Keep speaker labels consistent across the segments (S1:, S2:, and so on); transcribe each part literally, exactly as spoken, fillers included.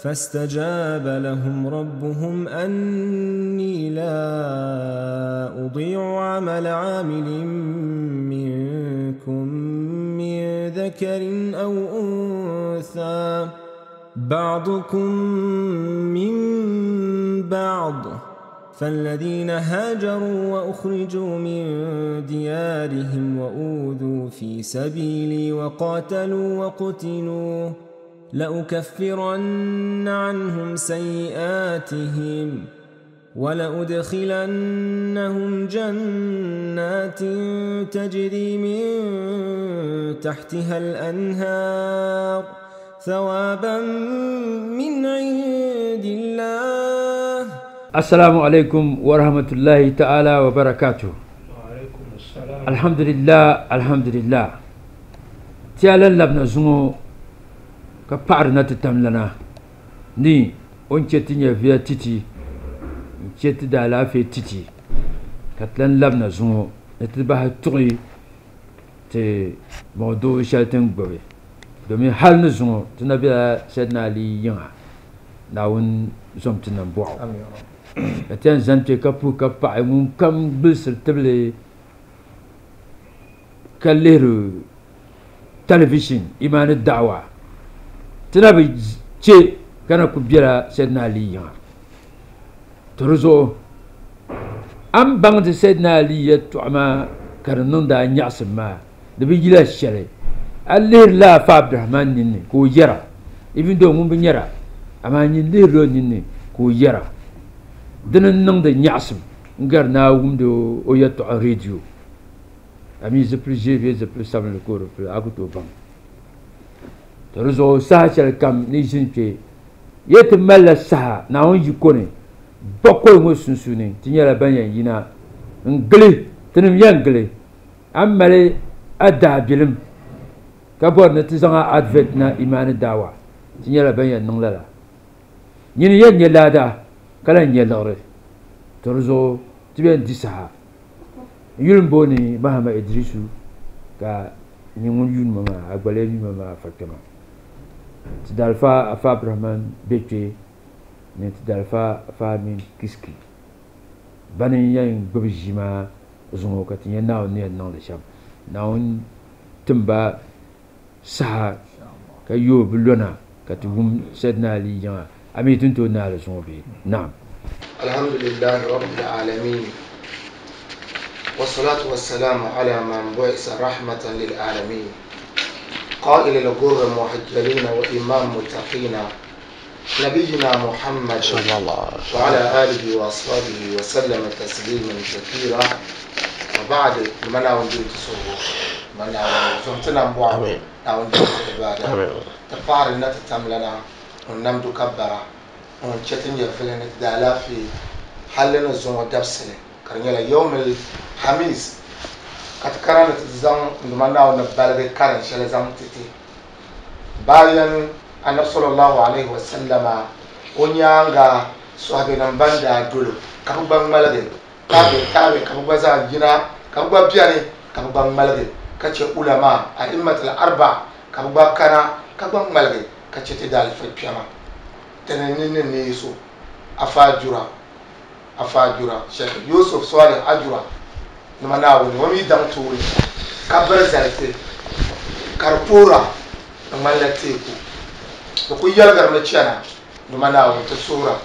S1: فاستجاب لهم ربهم أني لا أضيع عمل عامل منكم من ذكر أو أنثى بعضكم من بعض فالذين هاجروا وأخرجوا من ديارهم وأوذوا في سبيلي وقاتلوا وقتلوا لأكفرن عنهم سيئاتهم ولأدخلنهم جنات تجري من تحتها الأنهار ثوابا من عند الله.
S2: السلام عليكم ورحمة الله تعالى وبركاته.
S3: وعليكم السلام.
S2: الحمد لله الحمد لله. تعالى لبنا زمو ka paɣari na ti tam lana ni o ni chɛ ti nyɛviya titi n chɛ ti daalaafee titi ka ti lan labina zuŋɔ ni ti bahi tuɣi ti mɔɣudoo shɛli ti ni gbubi domin hali ni zuŋɔ ti na bela Sayyidina Ali yiŋa Naawuni zom ti nam bɔɣu ka ti yɛn zani kpe ka puhi ka paɣi ŋun kam gbulisiri tibili ka lihiri television imaani da'awa ti na bi chɛ ka na ku bela Sayyidina Ali yiŋa to di zuɣu a ni baŋdi Sayyidina Ali yɛltɔɣa maa ka di niŋdi a nyaɣasim maa di bi yila shɛli a lihirila Afa Abdurahman ninni ka o yɛra even though ŋun bi nyɛra amaa nyin lihirila o ninni ka o yɛra dini n niŋdi nyaɣasim n gari ni a wumdi o yɛltɔɣa radio a mi zipili ʒee bee zipili sabinli ka o di pili a ku tooi baŋ. To di zuɣu saha shɛli kam ni ʒini kpe ya ti malila saha Naawuni yiko ni bakɔi ŋɔ sunsuuni ti nyɛla ban yɛn yina n gili tinim yɛn gili a ni mali a daabilim ka bɔri ni ti zaŋ a advert na imaani daawa ti nyɛla ban yɛn niŋ lala nyini yɛn nyɛ laada ka lan nyɛ liɣiri. To di zuɣu ti bɛn di saha n yuli n booni Mahama Idrisu ka nyɛ ŋun yuuni ma maa a gbaliya yuuni ma maa afa kpɛma ti dalifa Afa Abdurahman be kpe ni ti dalifa Afa Amin Kiski bani n yɛn gbubi ʒii maa zuŋɔ ka ti nyɛ Naawuni ni yɛn niŋdi shɛm. Naawuni timba saha ka yooi bi lɔna ka ti wum Sayyidina Ali yiŋa a mi tin tooi naali zuŋɔ bee? Naam.
S4: Alhamdulillahi rabbil alamin والصلاة والسلام على من بعث رحمة للعالمين قائل الغر المحجلين وإمام متقين نبينا محمد
S5: صلى الله عليه وسلم
S4: وعلى آله وأصحابه وسلم تسليما كثيرا. وبعد من أوندي تصور من أوندي
S5: آمين
S4: أوندي عبادة تفعل نتتم لنا ونمد كبرة ونشتن يفلن الدالا في حلنا الزوم دبسله كرنيلا يوم الخميس كتكرن تزان نمنا ونبالغ كرن شل زان تتي باين النبي صلى الله عليه وسلم ونيانغا صحابي نمباندا دولو كبغ مالغي تابي تابي كبغ زان جنا كبغ بياني كبغ مالغي كتش علماء أئمة الأربع كبغ كنا كبغ مالغي كتش تدال في بيما تنين نيسو أفاجورا أفاجورا شيخ يوسف صالح أجورا نمناوني ومي دام توري كبر زالتي كاربورا نمالتيكو دكو يلغر مچانا نمناوني تسورا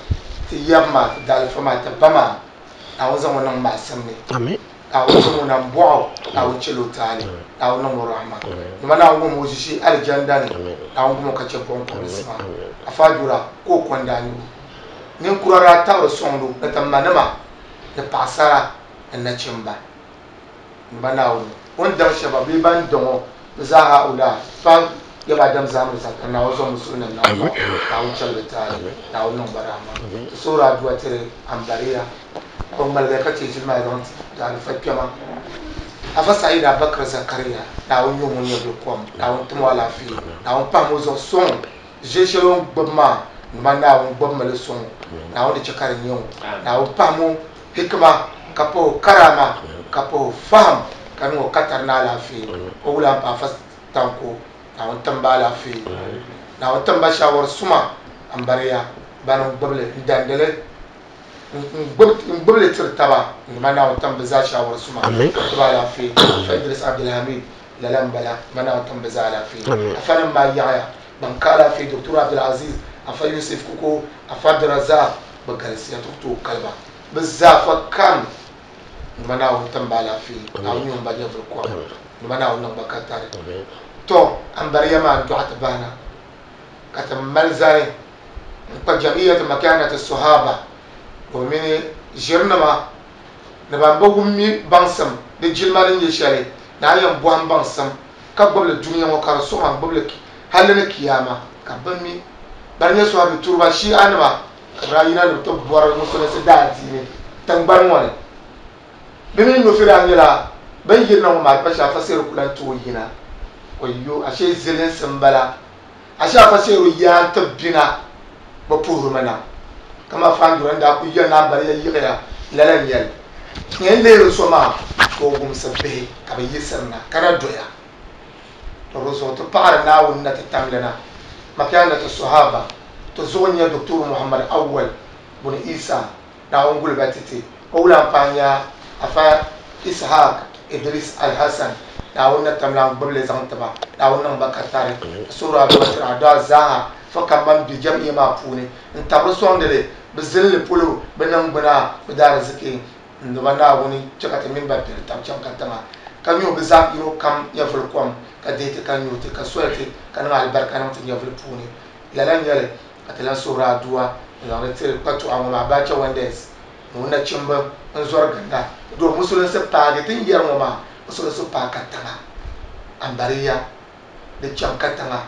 S4: تيما دالفما تبما أوزا ونن معسمني
S5: آمين
S4: أوزا ونن بوعو أو تشلو تالي أو نمو رحمة نمناوني موزيشي الجنداني أو نمو كاتشبون كونسما أفاجورا كو كوندانيو ninkurara tabiri sɔŋdu ni ti manima ni paɣasara ni nachimba n ba Naawuni o ni daŋ shɛba bee ban daŋɔ bi zaaha ula pa yaba dam zaamiri sa ka Naawuni zaŋ musulin nim Naawuni Naawuni chɛli bi taali Naawuni niŋ ba rahama ti soori aduwa tiri ambariya o ŋmaligi ka chɛ ʒili maa zaŋ ti alifa kpɛma Afa Said Abubakar Zakaria Naawuni nyɛ ŋun nyɛ bi kom Naawuni tim o alaafee Naawuni pahimi o zuɣu sɔŋ ʒɛ shɛli o ni gbubi maa nima Naawuni gbubi mi li sɔŋ Naawuni di chɛ ka di nyɛ o Naawuni pahimi o hikima ka pahi o karama ka pahi o faham ka niŋ o katari ni alaafee o wula n pa Afa Tanko Naawuni tim ba alaafee Naawuni tim ba shawari suma Ambariya bani gbubili n dandili n gbubili tiri taba nduma Naawuni tam bi zaa shawara suma ti ba alaafee Afa Idris Abdulhamid lala n bala nduma Naawuni tam bi zaa alaafee afa nim maa yaɣaya ban ka alaafee Doctor Abdulaziz Afa Yusuf Kuko Afa Abdurazak bi galisiya ti ku tooi kaliba bi zaa fa kam nduma Naawuni tam ba alaafee Naawuni nyɛ ŋun ba nyɛvuli kom nduma Naawuni niŋ ba ka tari to Ambariya maa n dɔɣi ti bahina ka ti mali zani n kpa jamiyati makanati sahaba domin ʒirinima ni ban bi wummi baŋsim di jilima ni nyɛ shɛli na a yɛn bɔhim baŋsim ka gbubili dunia ŋɔ ka di suɣima n gbubili halli ni kiyama ka bi mi bani nyɛ sahabi turuba shi'a nima ka bi daa yina ni bi ti bɔri musulinsi daa diini tingbani ŋɔ ni bi mini nufi daa nyɛla bin yirina ŋɔ maa pa shɛli afa seeru ku lan tooi yina oyo ashe zilinsi n bala ashe afa seeru yaa ti bina bi puhirimi na kama fandura n daa ku yɛli ni Ambariya yiɣiya lala n nyɛli yɛn lihiri so maa ka o gumsi bihi ka bi yiɣisiri na ka na doya to di zuɣu ti paɣari Naawuni na ti tamli na makiya na ti sahaba ti zuɣu nyɛ Doctor Muhammad Awwal buni Isa Naawuni guliba titi o wulan paɣa nya Afa Ishaq Idris Alhassan Naawuni na tamla n gbubili zaŋ tiba Naawuni niŋ ba ka tari suhuri aduwa tiri aduwa zaaha fo kam ban be jamiya maa puuni n tabiri sɔŋdili bi zilinli polo bi niŋgbuna bi daariziki n duba Naawuni chɛ ka ti mini ba pili tab chaŋ ka tiŋa ka nyo bi zaɣ yino kam nyɛvuli kom ka deei ti ka nyo ti ka soli ti ka niŋ alibarika niŋ ti nyɛvuli puuni lala n nyɛli ka ti lan suhuri aduwa n zaŋdi tiri kpatuɣa ŋɔ maa Abacha Wonders ni o nachimba n zɔri ginda do musulinsi paagi ti ni yɛri ŋɔ maa musulinsi paagi ka tiŋa Ambariya di chaŋ ka tiŋa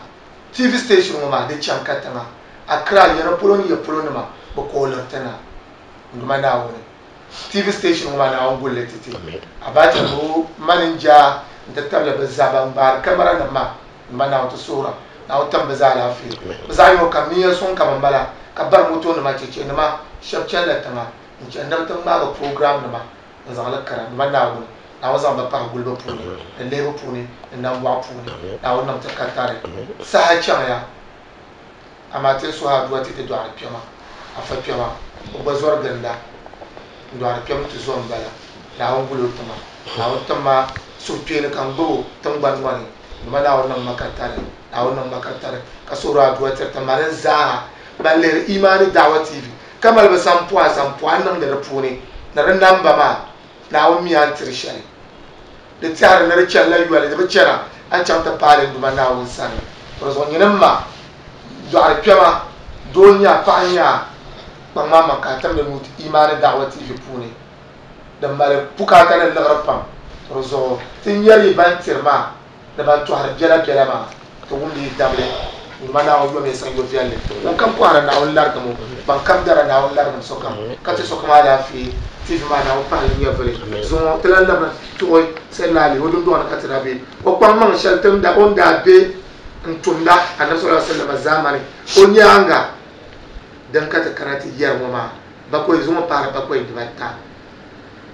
S4: T V station ŋɔ maa di chaŋ ka tiŋa Accra yɛri polo ni yɛ polo nima bi kooliri ti na nduma Naawuni T V station ŋɔ maa Naawuni gulli ti ti Abacha ni o maninja n ti tabili bi zaa ban gbaari kamara nim maa nduma Naawuni ti suhura Naawuni tam bi zaa alaafee bi zaa yino kam niya suŋ ka bi mala ka bari moto nima cheche nima shɛba chanila tiŋa n chani ni bi ti ŋmaagi program nima n zaŋli kara nduma Naawuni Naawuni zaŋ ba pahi guliba puuni ni lihibu puuni ni nambɔɣu puuni Naawuni niŋ ti ka tari saha chaŋya amaa ti suhi aduwa ti ti dɔɣiri kpɛma afa kpɛma o gba zɔri ginda n dɔɣiri kpɛm ti zo n bala Naawuni guli o tima Naawuni timma suhukpeeni ka n gbubi tingbani ŋɔ ni nduma Naawuni niŋ ma ka tari Naawuni niŋ ma ka tari ka suhuri aduwa tiri ti mali n zaaha ban lihiri Imani Da'wa T V ka mali bi sampɔha sampɔha n niŋdi di puuni ni di namba maa Naawuni mi a ni tiri shɛli di tɛhiri ni di chanila yoli di bi chana a ni chaŋ ti paali nduma Naawuni sani to di zuɣu nyinim ma dɔɣiri kpɛma doo nya paɣa nya kpaŋ maa maŋ ka a timdi nuu Imani Da'wa T V puuni din mali bukaata ni liɣiri pam to di zuɣu ti nyɛri yi ban tiri maa ni ban tɔhiri biɛla biɛla maa ti wumdi yi dabili nduma Naawuni yomi saŋ yo viɛlli ŋun kam kɔhiri Naawuni larigimi ban kam dara Naawuni larigim sokam ka ti sokam alaafee T V maa Naawuni pahili nyɛvuli zuŋɔ ti lan labina tuɣi Sayyidina Ali o dundɔŋ ni ka ti daa be o kpaŋ maŋ shɛli ti o ni daa be n tumda Anabi sallallahu alaihi wasallam zamani o nyaanga din ka ti kana ti yɛri ŋɔ maa bakɔi zuŋɔ paari bakɔi dibata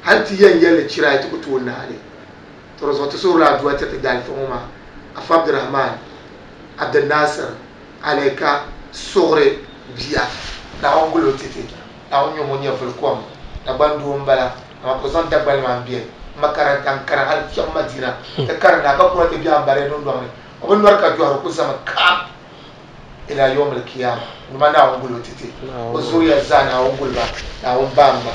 S4: hali ti yɛn yɛlli chira yi ti ku tooi naali to di zuɣu ti suhurila aduwa ti ti daalifa ŋɔ maa Afa Abdurahman Abdulnasir Alaika suɣuri bia Naawuni guli o titi Naawuni nyɛ ŋun nyɛvuli kom Dagban doo n bala amaa ka o zaŋ Dagbani maa n bɛ makaranta n kara hali chaŋ Madina ti karinda ka kuna ti bɛ Ambariya dundɔŋ ni o bi nɔri ka jɔhiri ku zami kam ila yawmil qiyama nduma Naawuni guli o titi o zuriya zaa Naawuni guli ba Naawuni baamba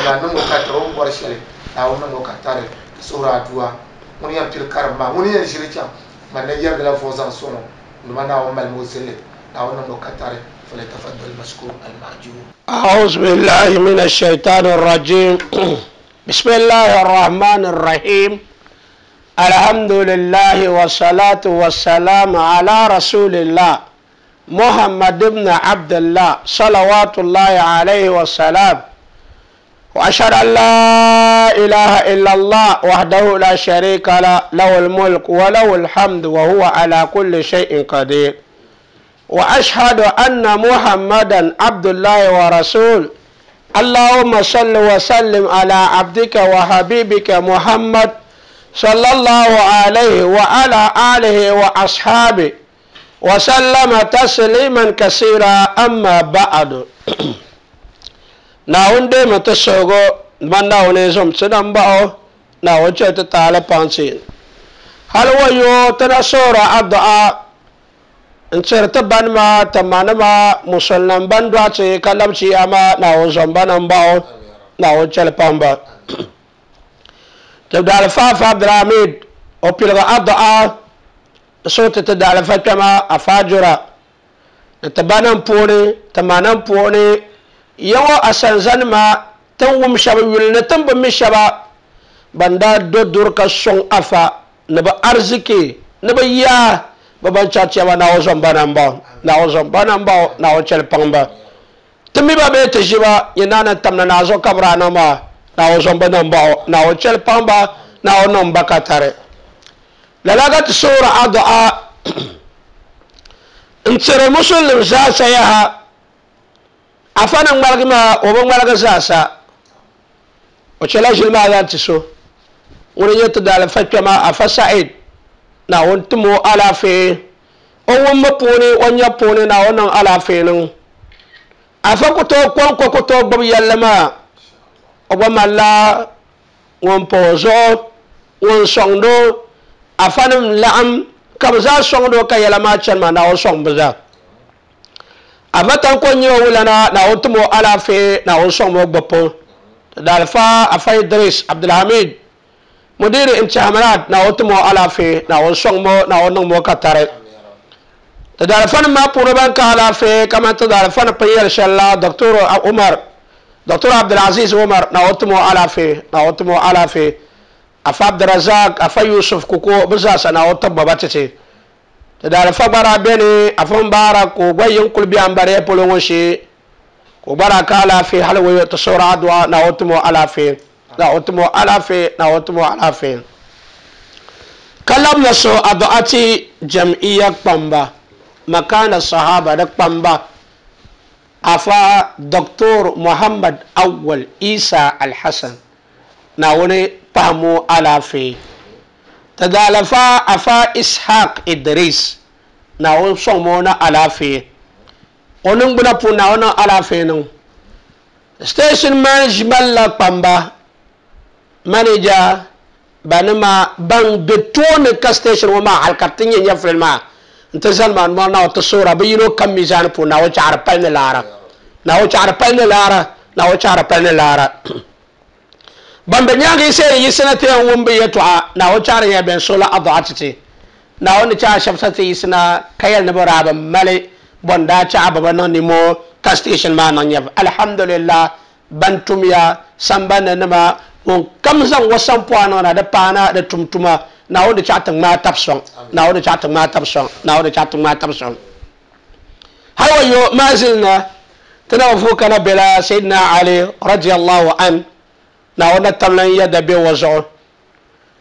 S4: Naawuni niŋ o ka tari o ni bɔri shɛli Naawuni niŋ o ka tari ti suhuri aduwa ŋuni yɛn pili karim maa ŋuni yɛn ʒili chaŋ man na yɛrigila vuɣu zaŋ sɔŋɔ nduma Naawuni malimi o zilli Naawuni niŋ o ka tari فليتفضل مشكور المأجور.
S3: أعوذ بالله من الشيطان الرجيم. بسم الله الرحمن الرحيم. الحمد لله والصلاة والسلام على رسول الله محمد بن عبد الله صلوات الله عليه وسلم، وأشهد أن لا إله إلا الله وحده لا شريك له، له الملك وله الحمد وهو على كل شيء قدير، وأشهد أن محمدا عبد الله ورسوله. اللهم صل وسلم على عبدك وحبيبك محمد صلى الله عليه وعلى آله وأصحابه وسلم تسليما كثيرا أما بعد ناون دي متسوغو من ناون زم تنم باو ناون چت تعالى پانسين هل ويو تنصور الدعاء انصرت بان ما تمان ما مسلم بان دواتي كلام شي اما ناون زم بان باو ناون چل پامبا تبدا الفاف عبد الحميد او بيلغ الدعاء صوت تدعى فتما أفاجرا تبانم بوني تمانم بوني يو أسنزن ما تنوم شبا يلنتم بمشبا بندا دو دورك سون أفا نبا أرزكي نبا يا بابان چاچي با ناو زنبانم باو ناو زنبانم باو ناو چل پانبا تمي با بيت جبا ينانا تمنا نازو كبرانا ما ناو زنبانم باو ناو چل پانبا ناو نمبا كتاري للاقت سورة الدعاء انتر مسلم زاسا يها أفانا مالك ما وبن مالك زاسا وشلاش الماذا تسو ونجت دال فتما أفا سعيد نا وانتمو على في أو مبوني ونيبوني نا ونن على فينو أفا كتو كون كتو ببي يلما وبما لا ونبوزو ونصندو afanim la'am kabza songdo ka yalama chanma na o song baza afatan ko nyo wulana na o tumo ala fe na o song mo gbopo dalfa afa Idris Abdulhamid mudir imtihanat na o tumo ala fe na o song mo na o nong mo katare dalfa ma puro ban ka ala fe kama to dalfa payel shalla Doctor Umar Doctor Abdulaziz Umar na o tumo ala fe na o tumo ala fe afa Abdurazak afa Yusuf kuko bizasa na wata baba tete da alfa bara bene afa bara ko gwayin kulbi ambare polongo shi ko baraka ala fi halwa ta sura adwa na wata ala fi na wata ala fi na wata ala fi kalam naso adwaati jam'iyya pamba makana sahaba da pamba afa Doctor Muhammad Awwal Isa Al-Hasan na wani fahimu alafe ta dalafa afa Ishaq Idris na wani son na alafe wani gbuna pu na wani alafe nan station management la pamba manager bani ma ban be toni ka station wa ma halkartin yin yafrin ma nta zalma ma na wata sura bi yino kan mizan pu na wace arpal ni lara na wace arpal ni lara na wace arpal ni lara bambe nyaagi se yi sanate wumbe yetwa na o char ya ben sola adhatiti na on cha shabsati isna kayal ne boraba male bonda cha baba non ni mo ka station ma non yab alhamdulillah bantumya sambana nama on kamzan wasan poano na da pana da tumtuma na on cha tan ma tapson na on cha tan ma tapson na on cha tan ma tapson hawa yo mazilna tanafuka na bila sayyidina Ali radiyallahu an na wannan tamlan yadda bai wazo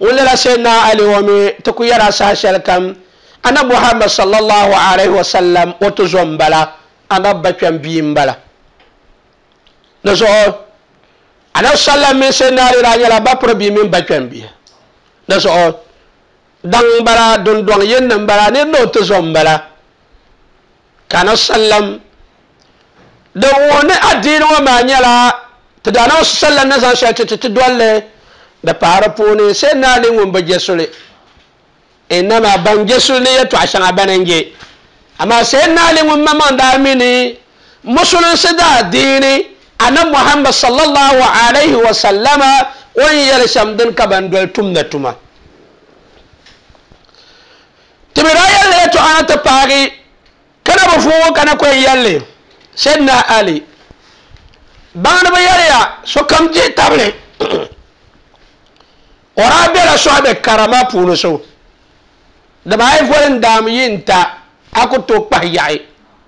S3: wala la sai na Ali wa mi tukuyara sa shalkam ana Muhammad sallallahu alaihi wasallam wato zombala ana bakyan biyin bala nazo ana sallam min sai na ali ranyala ba probi min bakyan bi nazo dan bara dun don yin nan bara ne no to zombala kana sallam da woni addini wa manyala tadana sallan na zan shi ti dole da fara pone sai na lin won baje sule inama ban je sule ya to ashan abanange amma sai na lin won mamman da mini musulun su da addini annabi Muhammad sallallahu alaihi wa sallama wani yar shamdin ka ban dol tum na tuma tibira yalle to ana ta fari kana ba fu kana ko yalle sayyidina Ali bana ba yariya so kam je table ora bela so abe karama puno so da bai folen dam yinta akuto pahyai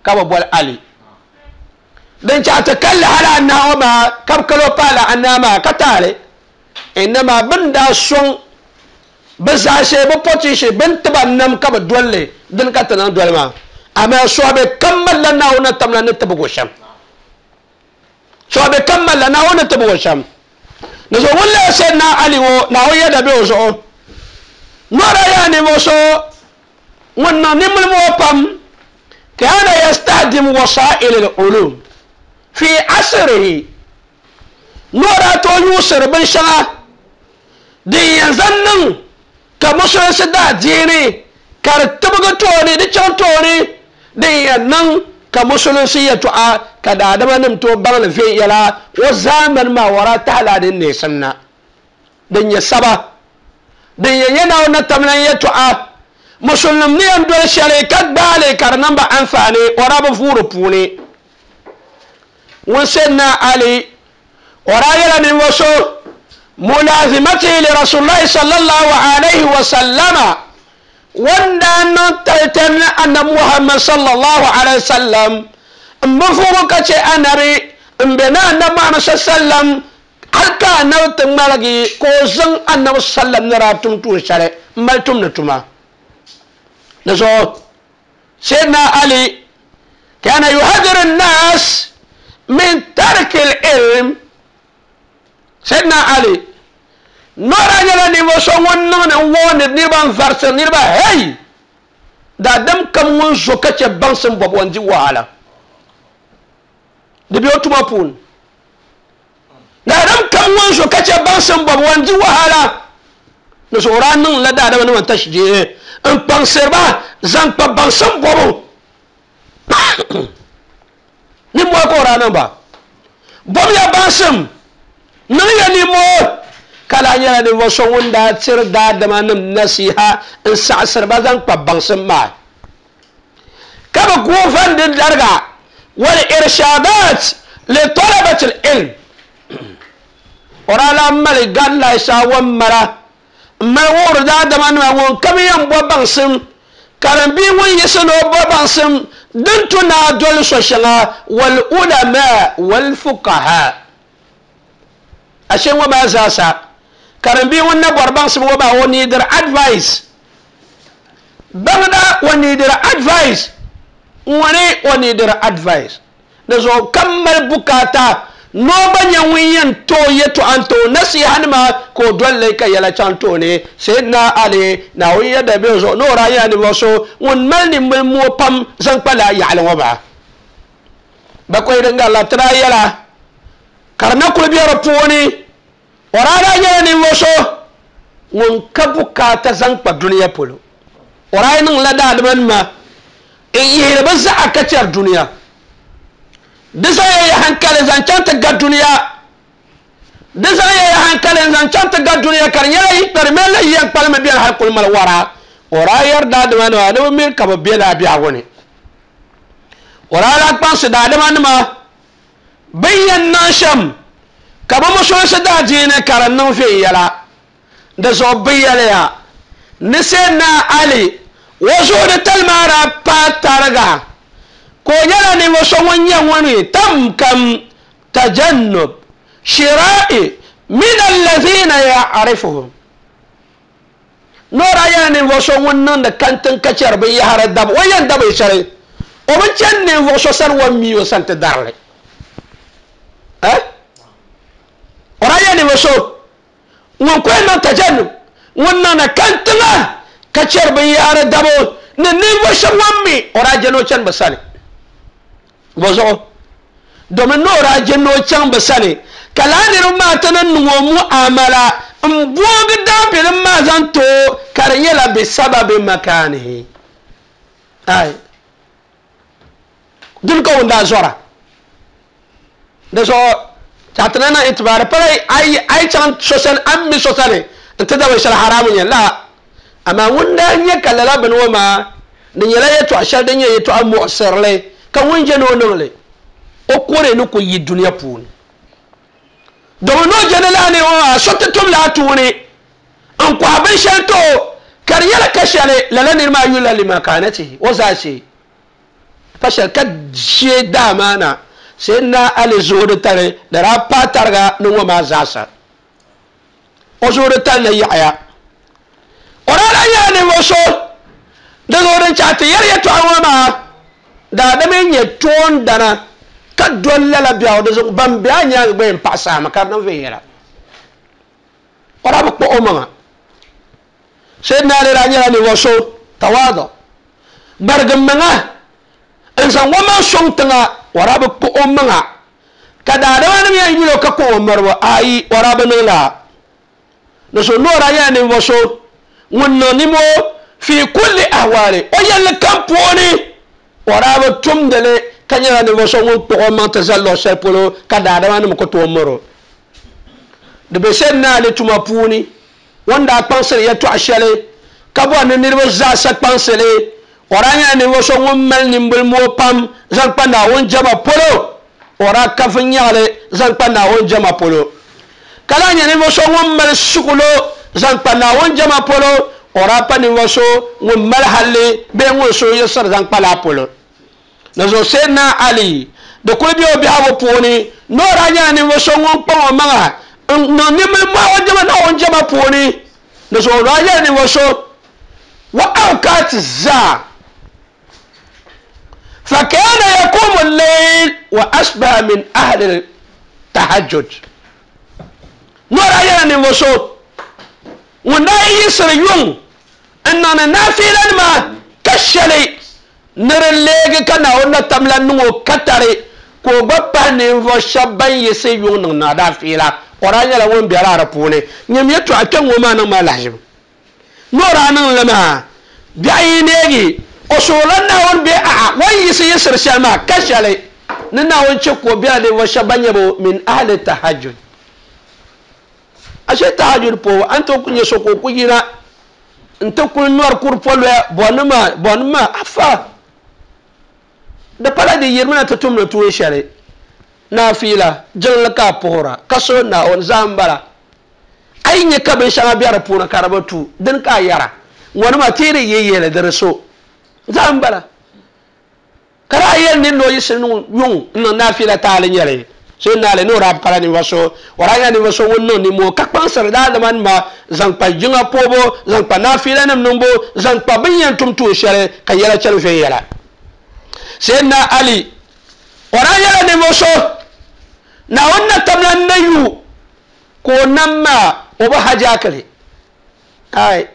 S3: ka ba bol Ali dan cha ta kalla hala anna ma kab kalo pala anna ma katale inma bin da sun bisa she ba poti she bin taban nam ka ba dolle din ka tanan dolle ma amma so abe kammala na wona tamla ne tabu gosham so abe kammala na wona tabu gosham na so wala sai na Ali wo na wo yada be so nora ya ne mo so wonna nimul mo pam كان يستخدم وسائل العلوم في عصره نورا تو يوسر بن شغا دي ينزنن كمسلم سدا ديني كرتبغ توني دي چون توني دي ينن كمسلم سيتوا كدادما نمتو بغل في يلا وزامن ما ورا تعالى دي سنة دي يسبا دي يناو نتمنى يتوا مسلم نيان دول شركات بالي كرنبا أنفاني ورا بفور بوني وسيدنا علي ورا يلا نوسو ملازمته لرسول الله صلى الله عليه وسلم وانا تلتن أن محمد صلى الله عليه وسلم مفوق أنبي بنا أن محمد صلى الله عليه وسلم حتى نوت مالكي كوزن أن وسلم نراتم تون شري مالتم نتما نزو سيدنا علي كان يحذر الناس من ترك العلم. سيدنا علي نورا يلا نيوسو ونن ون نيبان فرس نيبا هي دا دم كم ون زوكا بانسن بوب وندي وhala دي بيو توما بون دا دم كم ون زوكا بانسن بوب وندي وhala نزو رانن لا دا دم تشجي ان بانسر با زان با بانسن بوب ni mo ko ranan ba bob ya bansem ni ya ni mo kala nyɛla ninvuɣu so ŋun daa tiri daadama nim nasiha n saɣasiri ba zaŋ kpa baŋsim maa ka bi guufan di dariga wal irshadat li talabati ilm o daa lahi mali guidelines wan mara n mali wuhiri daadama nima ŋun kam yɛn bo baŋsim karimbii ŋun yiɣisi ni o bo baŋsim din tu naa doli so shɛŋa wal ulama wal fuqaha ashe ŋɔ maa zaasa karimbii ŋun na bɔri baŋsim ŋɔ maa o neediri advice baŋda o neediri advice ŋuni o neediri advice di zuɣu kam mali bukaata noo gba nyɛ ŋun yɛn tooi yɛltɔɣa n tooi nasiha nima ka o dolli ka yɛla chaŋ tooni Sayyidina Ali Naawuni yɛda bɛ zuɣu ni o daa nyɛla ninvuɣu so ŋun mali ninmili moo pam zaŋ kpa lala yaɣali ŋɔ maa bakɔi din garila ti daa yɛla ka di na kuli bɛ di puuni o daa daa nyɛla ninvuɣu so ŋun ka bukaata zaŋ kpa duniya polo o daa niŋla daadama nima n yihiri bi zaɣa ka chɛri duniya di zaŋ ya hankali zaŋ chaŋ ti ga duniya di zaŋ ya hankali zaŋ chaŋ ti ga duniya ka di nyɛla yi kpari mali la yiya kpalimi biɛni hali kuli mali wara o daa yɛri daadama nima ni bi miri ka bi bɛ laa biɛhigu ni o daa lahi kpaŋsi daadama nima bin yɛn niŋ shɛm ka bi musulinsi daadiini ka di niŋ viɛnyɛla di zuɣu bi yɛliya ni Sayyidina Ali o zuɣu di tali maa daa paai tariga ka o nyɛla ninvuɣu so ŋun nyɛ ŋuni tam kam tajannub shira'i min allazina ya'rifuhum nora nyɛla ninvuɣu so ŋun niŋdi kantin ka chɛri binyahari dabu o yɛn dabi shɛli o bi chɛni ninvuɣu so sani o mi o sani ti darili eh o daa nyɛla ninvuɣu so ŋun ku yɛn niŋ tajannub ŋun niŋdi kantiŋa ka chɛri binyahari dabu ni ninvuɣu shɛba ŋun mi o daa jɛni o chɛni bi sani bozuɣu domin ni o daa jɛni o chaŋ bi sani ka laa niriba maa ti ni niŋ o muamala n boogi daabilim maa zaŋ ti o ka di nyɛla bi sababi makaanihi ai dini ka ŋun daa zɔra di zuɣu ti na niŋ itibaari pala a yi chaŋ so sani a ni mi so sani n ti da binshɛli haramu nyɛ la amaa ŋun daa nyɛ ka lala bini ŋɔ maa di nyɛla yɛltɔɣa shɛli din nyɛ yɛltɔɣa muɣisirili ka ŋun je ni o niŋli o kore ni ku yi duniya puuni domin ni o je ni laa ni ŋɔ maa so ti tum laa tuuni n kɔhi binshɛli ti o ka di nyɛla ka shɛli lala niri maa yulila limakaanatihi o zaa shee pa shɛli ka shee daa maa na Sayyidina Ali zuɣu tali di daa paai tariga ni ŋɔ maa zaasa o zuɣu tali na yaɣaya o daa lahi nyɛla ninvuɣu so di zuɣu din chaɣ ti yɛri yɛltɔɣa ŋɔ maa daadama nyɛ toondana ka doli lala biɛɣu di zuɣu ban bɛ a nyaanga gba yɛn paɣa saama ka di niŋ viɛnyɛla o daa bi kpuɣi o maŋa Sayyidina Ali daa nyɛla ninvuɣu so tawaadu gbarigi maŋa N zaŋ o maŋ sɔŋ tiŋa o daa bi kpuɣi o maŋa ka daadama nim yɛn yuli o ka kpuɣi o miribu ayi o daa bi niŋ laa ni so ni o daa nyɛla ninvuɣu so ŋun niŋ nimoo fi kulli ahwali o yɛlli kam puuni o daa bi tumdili ka nyɛla ninvuɣu so ŋun kpuɣi o maŋ ti zali luɣu shɛli polo ka daadama nim ku tooi miri o di be Sayyidina Ali tuma puuni o ni daa kpaŋsiri yɛltɔɣa shɛli ka bɔri ni niriba zaasa kpaŋsili o daa nyɛla ninvuɣu so ŋun mali nimbili moo pam zaŋ kpa Naawuni jɛma polo o daa ka viɛnyɛɣili zaŋ kpa Naawuni jɛma polo ka lahi nyɛ ninvuɣu so ŋun mali suɣulo zaŋ kpa Naawuni jɛma polo o daa pa ninvuɣu so ŋun mali halli bee ŋun so yiɣisiri zaŋ kpa laa polo ni zuɣu Sayyidina Ali di kuli be o biɛhigu puuni ni o daa nyɛla ninvuɣu so ŋun kpaŋ o maŋa n niŋ nimbili moo o jɛma Naawuni jɛma puuni ni zuɣu o daa nyɛla ninvuɣu so wa awqaat zaa فكان يقوم الليل وأشبه من أهل التهجد نورا يانا نوسو ونا يسر يوم أننا نافلا ما كشلي نرليك كنا ونا تملا نو كتري كوبا نيفو شبان يسي يوم نافلا ورا يانا وين بيرا ربوني نيم يتو أكن وما نما لحجم نورا نلما بعينيجي o soola Naawuni bee a'a wan yiɣisi yiɣisiri shɛli maa ka shɛli ni Naawuni chɛ ka o bela ninvuɣu shɛba ban nyɛ bo min ahli tahajjud ashe tahajjud puhibu a ni tooi ku nyɛ so ka o ku yina n ti kuli nɔri kuri poloya bɔnima bɔnima afa di pala di yirimina ti tumdi tuun shɛli naafiila jiŋli ka a puhira ka so Naawuni zaa n bala a yi nyɛ ka binshɛŋa bɛ di puuni ka di bi tu dini ka a yɛra ŋɔnima ti yi di yi yɛli di di so zaa n bala ka daa yɛli ni noo yiɣisi yuŋ n niŋ naafiila taali nyɛli Sayyidina Ali ni o daa pala ninvuɣu so o daa nyɛla ninvuɣu so ŋun niŋ nimoo ka kpaŋsiri daadama nima zaŋ kpa jiŋa puhibu zaŋ kpa naafiila nim niŋbu zaŋ kpa bin yɛn tum tuun shɛli ka yɛla chɛni viɛnyɛla Sayyidina Ali o daa nyɛla ninvuɣu so Naawuni na tamla na yu ka o nam maa o bi hajaakili ai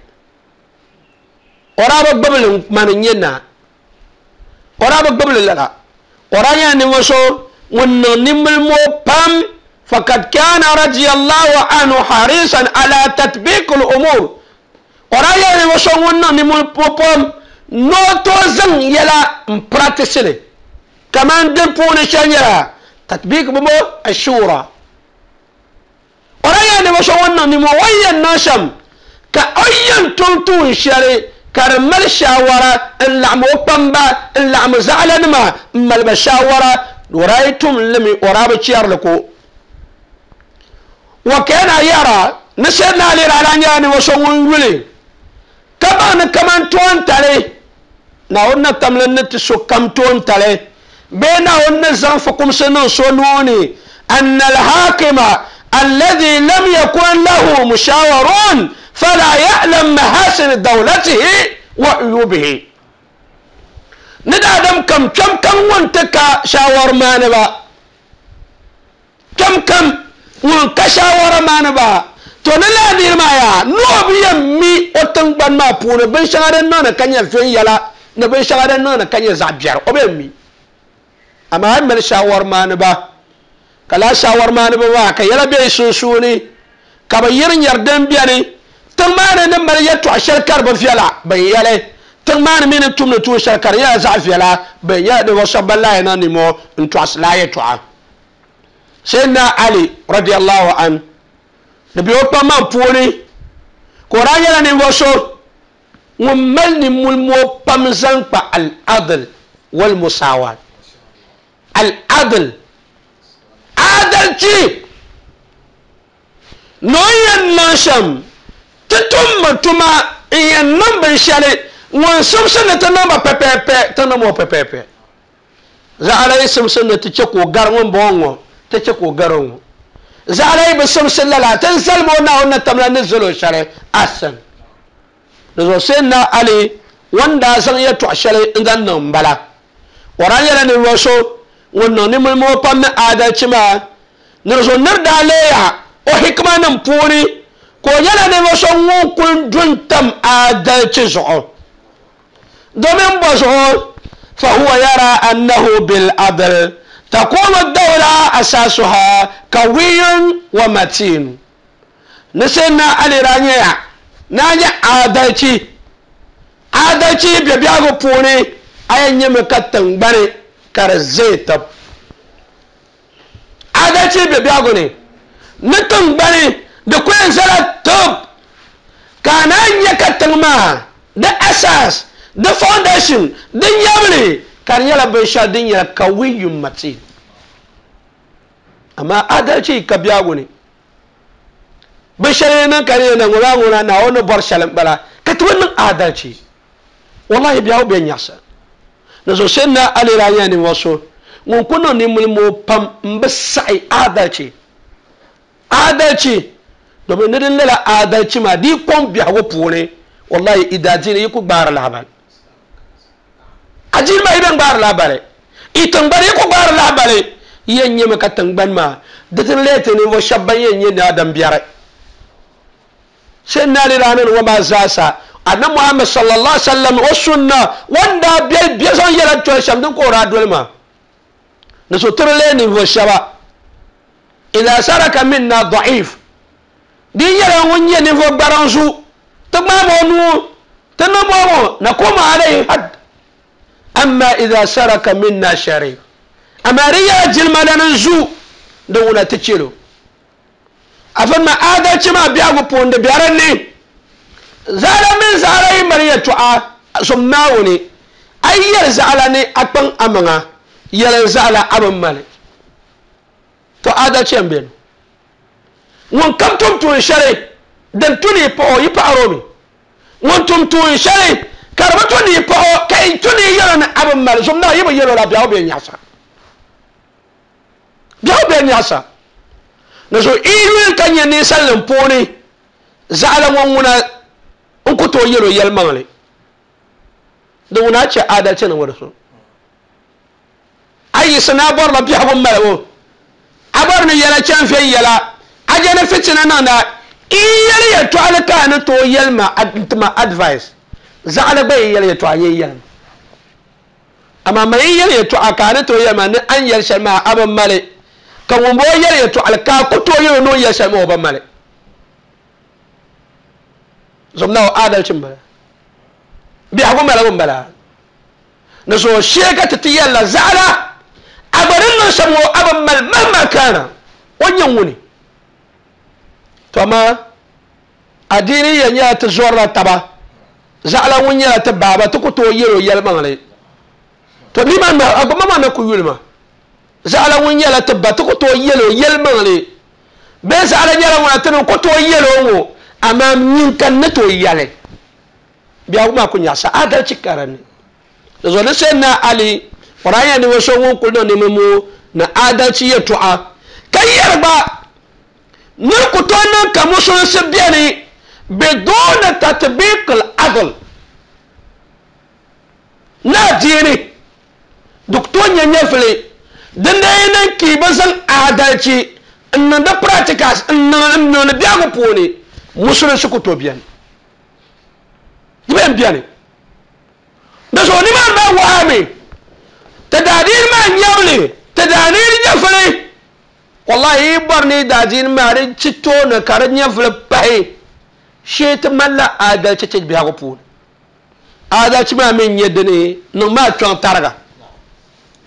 S3: o daa bi gbubili mani n nyɛ naa o daa bi gbubili lala o daa nyɛla ninvuɣu so ŋun niŋ nimbili moo pam fakad kana radiyallahu anhu harisan ala tatbiq al-umur o daa nyɛla ninvuɣu so ŋun niŋ nimbili moo pam ni o tooi zaŋ yɛla n practice li kaman din puuni shɛli nyɛla tatbiq bimo ashura o daa nyɛla ninvuɣu so ŋun niŋ nimoo o ni yɛn niŋ shɛm ka o yɛn tum tuun shɛli ka di mali shawara n laɣim o kpamba n laɣim zaɣalanima n mali ba shawara o daa yi tum limi o daa bi chɛrili ko wa kana yara ni Sayyidina Ali daa nyɛla ninvuɣu so ŋun yuli ka baŋ ni kaman toon tali Naawuni na tamli ni ti so kam toon tali bee Naawuni ni zaŋ fukumsi niŋ so nuuni anna alhakima alladhi lam yakun lahu mushawarun فلا يعلم محاسن دولته وعيوبه ندى آدم كم كم كم وانتك شاور ما نبا كم كم وانك شاور ما نبا تونلا دير ما يا نو بيمي وتنبان ما بون بن شغار نانا كان يفين يلا نبن شغار نانا كان يزعبير وبيمي أما هم شاور ما نبا كلا شاور ما نبا كيلا بيسوسوني كبيرن يردن بياني tiŋ maa ni ni mali yɛltɔɣa shɛli ka di bi viɛla bin yɛli tiŋ maa ni mi ni tumdi tuun shɛli ka di nyɛla zaɣ viɛla bin nyɛla ninvuɣu shɛba ban lahi niŋ nimoo n tɔɣisi laa yɛltɔɣa Sayyidina Ali radiyallahu an di bɛ o kpaŋmaŋ puuni ka o daa nyɛla ninvuɣu so ŋun mali nimmuli moo pam zaŋ kpa al-adl wal musawat al-adl adalci ni o yɛn niŋ shɛm ti tummi tuma n yɛn niŋ binshɛli ŋun simsi ni ti niŋba pɛpɛpɛ ti niŋ o pɛpɛpɛ zaɣala yi simsi ni ti chɛ ka o gari ŋun bɔŋɔ ŋɔ ti chɛ ka o gari ŋɔ zaɣala yi bi simsi lala ti zalimi o Naawuni na tamla ni zali o shɛli asan di zuɣu Sayyidina Ali ŋun daa zaŋ yɛltɔɣa shɛli n zaŋ niŋ n bala o daa nyɛla ninvuɣu so ŋun niŋ nimmuli moo pam ni adalci maa ni di zuɣu niri daa leeya o hikima nim puuni ka o nyɛla ninvuɣu so ŋun kuli du n tam adalci zuɣu domin bɔ zuɣu فهو يرى أنه بالعدل تقوم الدولة أساسها قوي ومتين نسينا علي رانيا نانيا عادلتي عادلتي بيبياغو بوني أين يمكتن بني كارزيتب عادلتي بيبياغو ني نتن بني دكوين زرا توب كان يكتن ما the أساس the foundation the nyabli kan yala binsha din ya kawiyun matin amma adalci ka biyago ne bishare nan kare nan ngura ngura na wani bar shalan bala ka tuwan nan adalci wallahi biyawo ben yasa na so sai na aliranya ne waso ngun kuno ni mulmo pam mbe sai adalci adalci domin nidin lala adalci ma di kon biyago pune wallahi idaji ne yiku gbara labal ajin ma idan gbara labale itan bare yiku gbara labale yenye maka tangban ma datin lete ne wa shabban yenye na adam biyar sai na liranan wa ma zasa annabi Muhammad sallallahu alaihi wasallam wa sunna wanda biyar biyar son yara to sham din kora dolma na so turle ne wa shaba idza saraka minna da'if din yara wonye ne fo baransu تمامو تنمو نقوم عليه حد أما إذا سرك منا شريف أما ريا جلما ننزو دولة تشيلو أفما آذا كما بيعو بوند بيارني زال من زالي مريا تعا سماوني أي زالني أكبر أمنا يلا زال أبن مالي تو آذا كم بين وان كم تم تون dan tuni po yi paaro mi won tum tun shari karba tuni po kai tuni yoro na abun mal zumna yibo yoro la biawo be nyasa biawo be nyasa na so ilu kan ya ni sallan poni zaala won wuna in ku to yoro yelmanle da wuna ce adalci na wadaso ayi sana bor la biawo mal wo abar ni yala chan fe yala ajana fitina na na iyali ya to alaka na to yelma ma advice za ala bai yali ya to ayi yelma amma mai yali ya to aka na to yelma ni an yel sharma aban male kan wombo yali ya to alaka ko to yelo no yel sharma oban male zomna adalcin bala bi hagu mala bun bala na so sheka ta tiyalla zala abarin nan samo aban mal mahma kana wannan wuni to amma addini ya nya ta zorra taba zala wun ya ta baba ta ku to yero yelmanle to ni ma agba mama na ku yulma zala wun ya ta ba ta ku to yero yelmanle be zala nyala wona ta ku to yero wo amma min kan na to yale biya kuma ku nya sa adalci karani da zo na sai na ali qur'ani ne waso won kulno ne mu na adalci ya tu'a kai yarba نكتون كمسلم سبياني بدون تطبيق العدل ناديني دكتور ينفلي دندين كي بزن عدالتي ان دا براتيكاس ان ان بياغو بوني مسلم سكوتو بيان يبين بياني da so ni ma ba wami tadadir ma nyawli tadadir nyafli wallahi barni dajin mari cito na karan nyafli pai shet malla adalci ce biya ko pun adalci ma min yedde ne no ma chon targa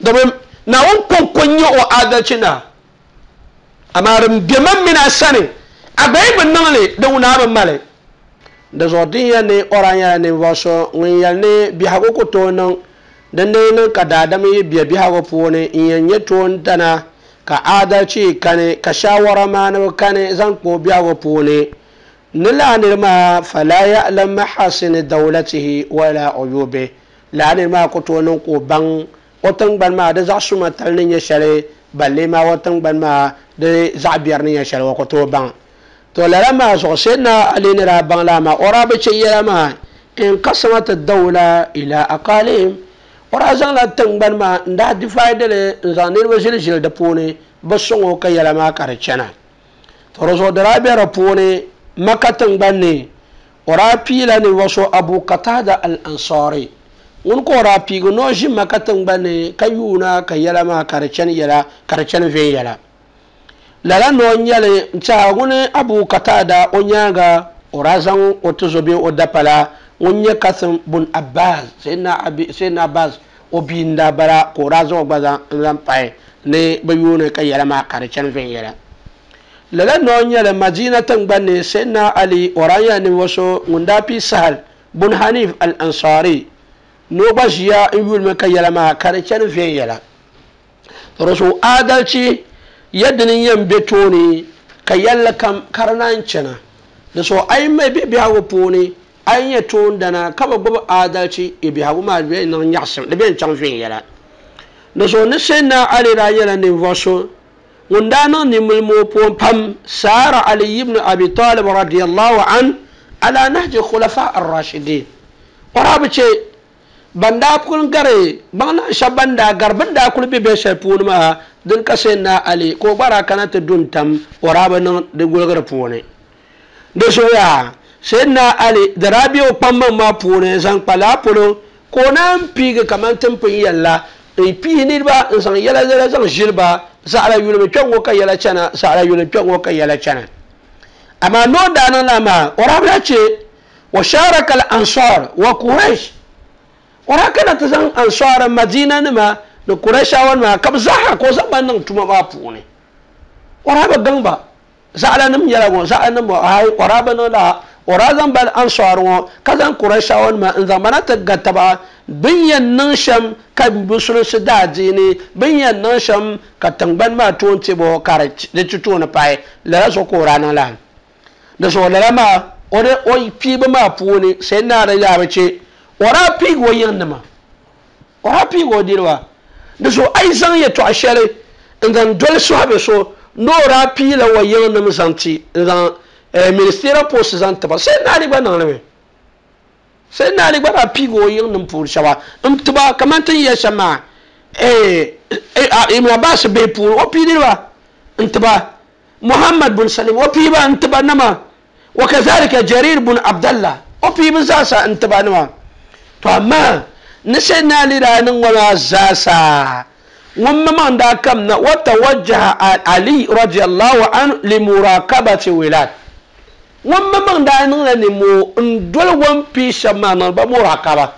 S3: domin na won konkonyo o adalci na amarin biman mina sani abai bin nan le da wuna ban male da zodiya ne oranya ne waso ŋun ne bihago ko to nan dan ne nan ka dadam yi biya bihago puuni n yɛn nyɛ toon dana ka adalci kane ka shawara maanibu kane zaŋ kpa o bihago puuni ni laa niri maa fala ya'lam mahasini dawlatihi wala uyubi laa niri maa ku tooi niŋ ka o baŋ o tiŋgbani maa di zaɣ suma tali ni nyɛ shɛli balle maa o tiŋgbani maa di zaɣ biɛri ni nyɛ shɛli o ku tooi baŋ to lala maa zuɣu sayyidina Ali ni daa baŋ laa maa o daa bi chɛ yɛla maa inqasamat ad-dawla ila aqalim o daa zaŋla tiŋgbani maa n daa divide li n zaŋ niriba ʒili ʒili di puuni bi sɔŋ o ka yɛla maa ka di chɛna to di zuɣu di daa bɛ di puuni Maka tiŋgbani ni o daa piila ninvuɣu so Abu Qatada al-Ansari ŋun ka o daa piigi ni o ʒi Maka tingbani ka yuuna ka yɛla maa ka di chani yɛla ka di chani viɛnyɛla lala ni o nyɛli n tiɛha ŋuni Abu Katada o nyaanga o daa zaŋ o tuzo bee o dapala ŋun nyɛ Kasim bun Abbas Sayyidina Abbas o bia n daa bala ka o daa zaŋ o gba zaŋ n zaŋ pahi ni bi yuuni ka yɛla maa ka di chani viɛnyɛla lala ni o nyɛli Madina tingbani Sayyidina Ali o daa nyɛla ninvuɣu so ŋun daa pii Sahal bun Hanif al-Ansari ni o gba ʒiya n yulimi ka yɛla maa ka di chani viɛnyɛla to adalci yadda ni yɛn be tooni ka yɛlli kam ka di naan chana di so a yi mali bihi biɛhigu puuni a yi nyɛ toondana ka bi gbubi adalci i biɛhigu maa di bɛ niŋ nyaɣasim di bɛ chaŋ viɛnyɛla di so ni Sayyidina Ali daa nyɛla ninvuɣu so ŋun daa niŋ nimmilimo puuni pam saara Ali ibn Abi Talib radiyallahu an ala nahji khulafa ar-rashidin o daa bi che ban daa kuli gari baŋ shɛba ban daa gari bin daa kuli be bɛ shɛli puuni maa din ka Sayyidina Ali ka o gba daa kana ti du n-tam o daa bi niŋ di guligiri puuni di zuɣu Sayyidina Ali di daa be o kpaŋmaŋ maa puuni zaŋ kpa laa polo ka o naan piigi kamani ti ni pun yɛlila n pii niriba n zaŋ yɛla yɛla zaŋ ʒili ba zaɣala yulimi kpɛŋ ŋɔ ka yɛla chana zaɣala yulimi kpɛŋ ŋɔ ka yɛla chana amaa ni o daa niŋ laa maa o daa bila che wa sharaka al-ansar wa Quraysh o daa kana ti zaŋ ansar Madina nima ni Qurayshawa nima ka bi zaaha ka o zaŋ ba niŋ tuma maa puuni o daa bi gaŋ ba zaɣala nim nyɛla ŋɔ zaɣala nim ayi o daa bi niŋ laa o daa zaŋ ba ansar ŋɔ ka zaŋ Qurayshawa nima n zaŋ ba na ti ga taba bin yɛn niŋ shɛm ka musulinsi daa diini bin yɛn niŋ shɛm ka tingbani maa toon tibo ka di ti tooni pahi lala zuɣu ka o daa niŋ laa di zuɣu lala maa o o piibu maa puuni Sayyidina Ali daa bi che o daa piigi o yiŋ nima o daa piigi o niriba di zuɣu a yi zaŋ yɛltɔɣa shɛli n zaŋ doli suhabi so ni o daa piila o yiŋ nim zaŋ ti n zaŋ ministerial post zaŋ tiba Sayyidina Ali gba niŋli mi Sayyidina Ali gba daa piigi o yiŋ nim puuni shɛba n tiba kamani ti ni yɛli shɛm maa Ibn Abbas bihi puuni o pii niriba n tiba Muhammad bin Salim o piiba n tiba nima wa kazalika Jarir bin Abdallah o piiba zaasa n tiba nima to amma ni Sayyidina Ali daa niŋ ŋɔ maa zaasa ŋun maŋ daa kam na wa tawajjaha Ali radiyallahu anhu limurakabati wilad ŋun maŋ daa niŋla nimmoo n doli o ni pii shɛba maa niŋ ba murakaba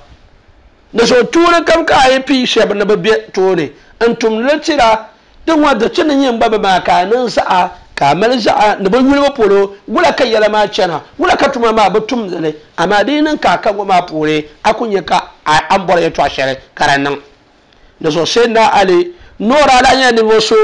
S3: di zuɣu tuuni kam ka a yi pii shɛba ni bi be tooni n tumdili tira di ŋɔ di ti ni nyɛ n gba bi maa ka a niŋ zaɣa ka a mali zaɣa ni bi yulibu polo wula ka yɛla maa chana wula ka tuma maa bi tumdili amaa di yi niŋ ka a ka ŋɔ maa puuni a ku nyɛ ka a ni bɔri yɛltɔɣa shɛli ka di niŋ di zuɣu Sayyidina Ali ni o daa lahi nyɛla ninvuɣu so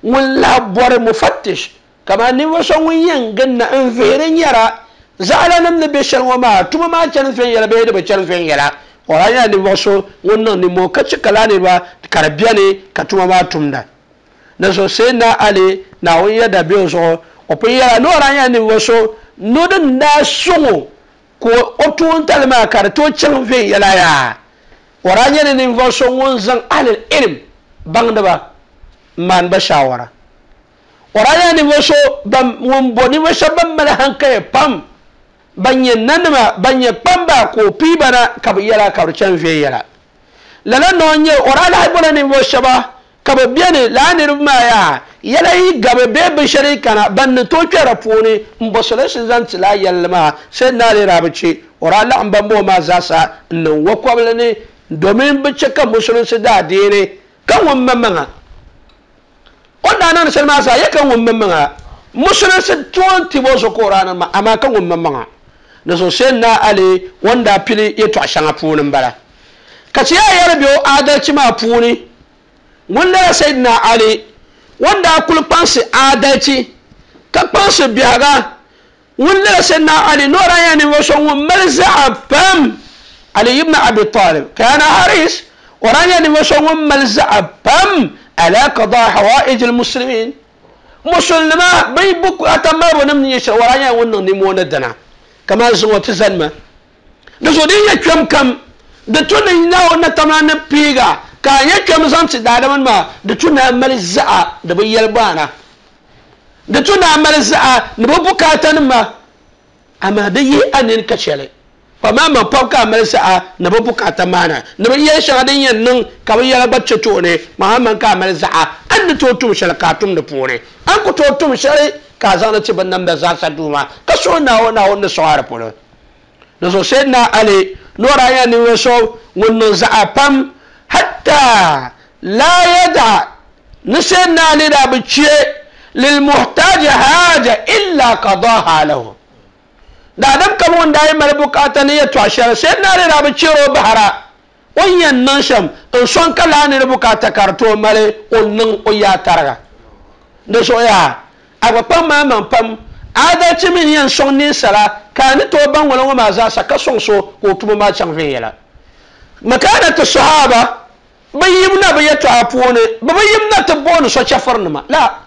S3: ŋun lahi bɔri mufattish kamani ninvuɣu so ŋun yɛn ginna n vihiri nyɛra zaɣala nim ni be shɛli ŋɔ maa tuma maa chani viɛnyɛla bee di bi chani viɛnyɛla o daa nyɛla ninvuɣu so ŋun niŋ nimmoo ka che ka laa niriba ka di beni ka tuma maa tumda di zuɣu Sayyidina Ali Naawuni yɛda be o zuɣu o pun yɛla ni o daa nyɛla ninvuɣu so ni o din daa sɔŋ o ka o toontali maa ka di tooi chaŋ viɛnyɛla yaa o daa nyɛla ninvuɣu so ŋun zaŋ ahlul ilm baŋdiba n maani ba shawara o daa nyɛla ninvuɣu so ŋun bo ninvuɣu shɛba ban mali hankali pam ban nyɛ nanima ban nyɛ kpamba ka o pii ba na ka bi yɛla ka bi chani viɛnyɛla lala ni o nyɛ o daa lahi bola ninvuɣu shɛba ka bi beni laa niriba maa yaa yɛla yi gabi bee binshɛli yi kana ban ni tooi kpɛra puuni n bo sulinsi zaŋ ti laa yɛlli maa Sayyidina Ali daa bi che o daa laɣim ban bɔ maa zaasa n niŋ wakɔbili ni domin bi che ka musulinsi daa deeni ka ŋun maŋmaŋa o daa niŋdi shɛli maa zaa yɛ ka ŋun maŋmaŋa musulinsi toon tibo zuɣu ka o daa niŋ maa amaa ka ŋun maŋmaŋa di zuɣu Sayyidina Ali o ni daa pili yɛltɔɣa shɛŋa puuni n bala ka ti yaa yɛli be o adalci maa puuni ŋun lala Sayyidina Ali ŋun daa kuli kpaŋsi adalci ka kpaŋsi biɛhiga ŋun lala Sayyidina Ali ni o daa nyɛla ninvuɣu so ŋun mali zaɣa pam Ali ibn Abi Talib kana haris o daa nyɛla ninvuɣu so ŋun mali zaɣa pam ala qada hawaij al-muslimin musulima bi bukaata malibu nim ni nyɛ shɛli o daa nyɛla ŋun niŋ nimmoo ni dina kamani zuŋɔ ti zanima di zuɣu din nyɛ kpɛm kam di tu ni Naawuni ni tamla ni piiga ka a nyɛ kpɛm zaŋ ti daadama nima di tu ni a mali zaɣa di bi yɛli baana di tu ni a mali zaɣa ni bi bukaata nima amaa di yihi a nini ka shɛli Pa maa ma pam ka mali sa'a ni bi bukaata maana ni bi yɛli shɛŋa din yɛn niŋ ka bi yɛla gba chɛ tooni maa man ka mali zaɣa an ni tooi tum shɛli ka a tum di puuni an ku tooi tum shɛli ka a zaŋdi ti bin namda zaasa duuma ka suhi Naawuni Naawuni ni sɔŋ a di polo di zuɣu Sayyidina Ali nora ya ninvuɣu so ŋun niŋ zaɣa pam hatta la yada ni Sayyidina Ali daa bi chɛ lilmuhtaji haja illa qadaha lahu daadam kam ŋun daa yi mali bukaata ni yɛltɔɣa shɛli Sayyidina Ali daa bi chɛri o bahara o ni yɛn niŋ shɛm n sɔŋ ka laa ni di bukaata ka di tooi mali o niŋ o yaa tariga di zuɣu yaa a gba kpaŋ maa maŋ pam adalci mini yɛn sɔŋ ninsala ka a ni tooi baŋ ŋɔla ŋɔ maa zaasa ka sɔŋ so ka o tuma maa chaŋ viɛnyɛla makanati sahaba bi yimna bi yɛltɔɣa puuni bi bi yimna ti booni so chɛfurinima la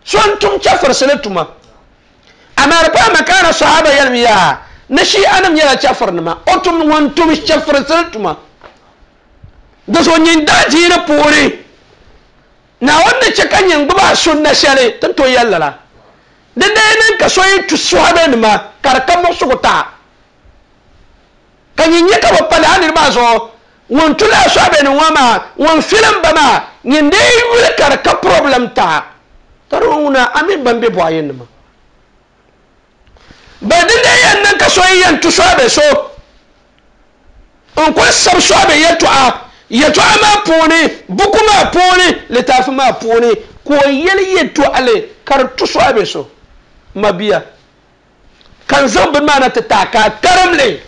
S3: so n tum chɛfurisili tuma amaa di paai makana sahaba yɛlimi yaa ni shi'anim nyɛla chɛfurinima o tum ŋun tum chɛfurisili tuma di zuɣu nyin daa diini puuni Naawuni ni chɛ ka nyin gbubi a sunna shɛli ti ni tooi yɛli lala di dee niŋ ka so yi tu sɔhibenima ka di ka muɣusigu taha ka nyin nyɛ ka bi pa lala niriba maa zuɣu ŋun tu lala sɔhibenim ŋɔ maa ŋun filim ba maa nyin dee yuli ka di ka problem taha ka di ŋuna a mini ban be bɔɣa yinnima ba di dee yɛn niŋ ka so yi yɛn tu sɔhibe so n kuli sabi sɔhibe yɛltɔɣa yɛltɔɣa maa puuni buku maa puuni litaafi maa puuni ka o yɛli yɛltɔɣali ka di tu sɔhibe so mabia ka n zaŋ bini maa na ti taai ka a karim li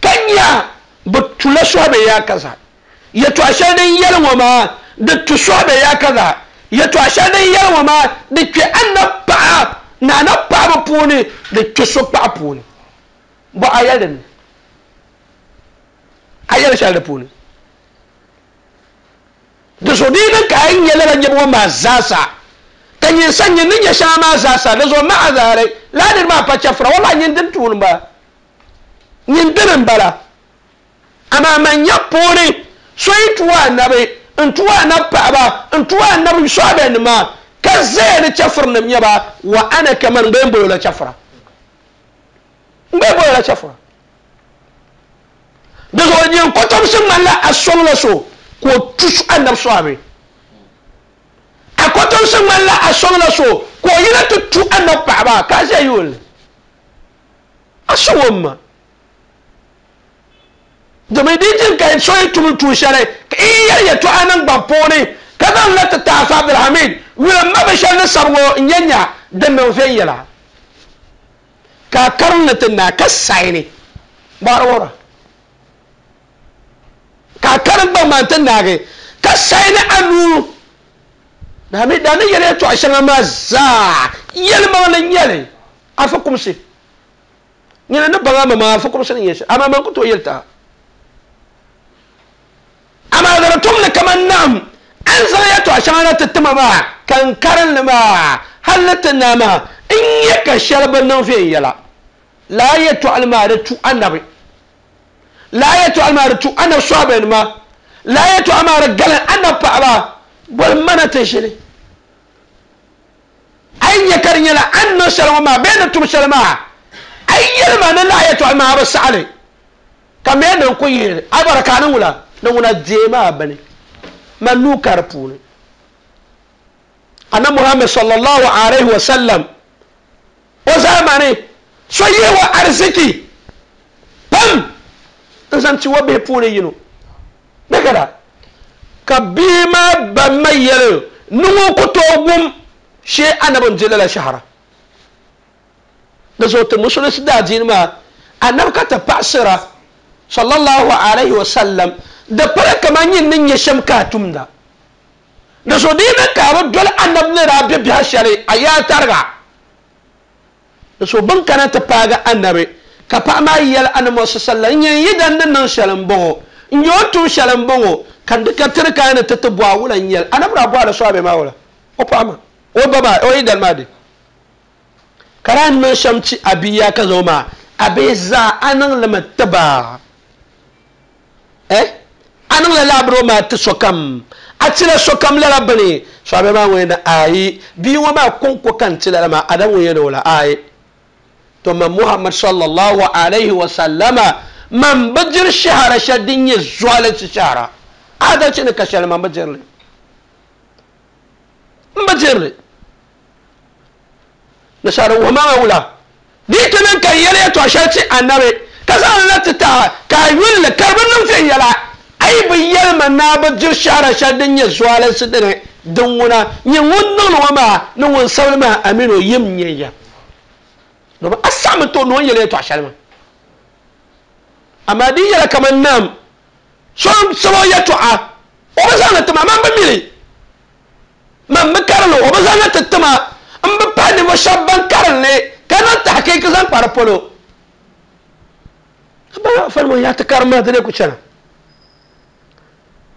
S3: ka nya bi tula sɔhibe yaa kaza yɛltɔɣa shɛli din yɛli ŋɔ maa di tu sɔhibe yaa kaza yɛltɔɣa shɛli din yɛli ŋɔ maa di kpɛ annabi paɣa ni annabi paɣaba puuni di kpɛ so paɣa puuni bɔ a yɛli dinni a yɛli shɛli di puuni di zuɣu di yi niŋ ka a yi nyɛ lala nyɛbu ŋɔ maa zaasa ka nyin sa nyin ni nyɛ shɛŋa maa zaasa di zuɣu ma'a zaali laa niri maa pa chɛfura wallahi nyin dini tuuni m-bala nyin dini m-bala amaa man nya puuni so yi tuwa anabi n tuwa anabi paɣaba n tuwa anabi sɔhibenima ka zaya ni chɛfurinim nyɛba wa ana kaman n gba yɛn boli o la chɛfura n gba yɛn boli o la chɛfura di zuɣu nyin kotomsi ŋmanila a sɔŋla so ka o tu anabi sɔhibe a kotomsi ŋmanila a sɔŋla so ka o yina ti tu anabi paɣaba ka a ʒiya yuuni a sɔŋ o ma domin di jin ka so yi tum tuun shɛli ka i yɛli yɛltɔɣa niŋgbaŋ puuni ka zaŋ la ti taafa Abdulhamid yuli ma bi shɛli ni sabi ŋɔ n nyɛ nya din niŋ viɛnyɛla ka a karim ni ti naa ka sayini bɔhiri wuhira ka a karim gbaŋ maa ti naagi ka sayini a nuu daa daa ni yɛli yɛltɔɣa shɛŋa maa zaa yɛlimaŋli n nyɛli a fukumsi nyina ni baŋ a ma a fukumsi ni nyɛ shɛli amaa man ku tooi yɛli taha amaa di tumli kaman naam an zaŋ yɛltɔɣa shɛŋa na ti tima maa ka n karinli maa hali ti naa maa n nyɛ ka shɛli bi niŋ viɛnyɛla laa yɛltɔɣali maa di tu anabi laa yɛltɔɣali maa di tu anabi sɔhibenima laa yɛltɔɣa maa di galin anabi paɣaba boli mana ti ʒili a yi nyɛ ka di nyɛla an niŋ shɛli ŋɔ maa bee ni tum shɛli maa a yi yɛli ma ni laa yɛltɔɣali maa a bi saɣali ka mɛ niŋ ku yihili a bɔra ka a niŋ wula ni ŋuna deei maa bini man nuu ka di puuni annabi Muhammad sallallahu alaihi wa sallam o zamani so yihi wa arziki pam n zaŋ ti wa bihi puuni yino bɛ kada ka bia maa ba ma yɛli ni ŋun ku tooi wum shee anabi n di lala shahara di zuɣu ti musulunsi daa diini maa anabi ka ti paɣasira sallallahu alaihi wa sallam di pala kaman nyin ni nyɛ shɛm ka a tumda di zuɣu di yi niŋ ka a bi doli anabi ni daa be biɛhi shɛli a yaa tariga di zuɣu bin kana ti paagi anabi ka paɣa maa yɛli anabi Muhammad sallallahu alaihi wa sallam n nyɛ yidan ni niŋ shɛli n bɔŋɔ n nyɛ o tum shɛli n bɔŋɔ ka di ka tiri ka ni ti ti bɔhi wula n nyɛli anabi daa bɔhila sɔhibe maa wula o paɣa maa o ba maa o yidan maa di ka daa niŋ shɛm ti a bia ka zaŋ maa a bihi zaa a niŋ limi tiba eh a niŋ la laabiro maa ti sokam a tila sokam lala bini sɔhibe maa ŋun yɛn ayi bia ŋɔ maa kɔŋko ka n ti lala maa adam ŋun yɛn o la ayi To ma Muhammad sallallahu alaihi wa sallama man bijir shahara shadin ya zuwalanci shahara adalci ne ka shahara man bijir ne bijir ne na shahara wa ma wula ditinin kan yɛlɛ yɛtɔɣa shɛli ti anabi ka zaŋ la ti taɣa ka a yulli ka di bi niŋ viɛnyɛla a yi bi yɛlima naa bi diri shahara shɛli din nyɛ zualinsi dini din ŋuna nyɛ ŋun niŋli ŋɔ maa ni ŋun sabili maa amino yim nyɛ ya domin a saɣami to ni o ni yɛli yɛtɔɣa shɛli maa amaa di yɛla kaman naam so sabi o yɛtɔɣa o bi zaŋli tima man bi mili man bi karili o bi zaŋli ti tima n bi pahi ninvuɣu shɛba ban karinli ka niŋ tahqiqi zaŋ kpa di polo ba fani ya ti karim maa di ku chana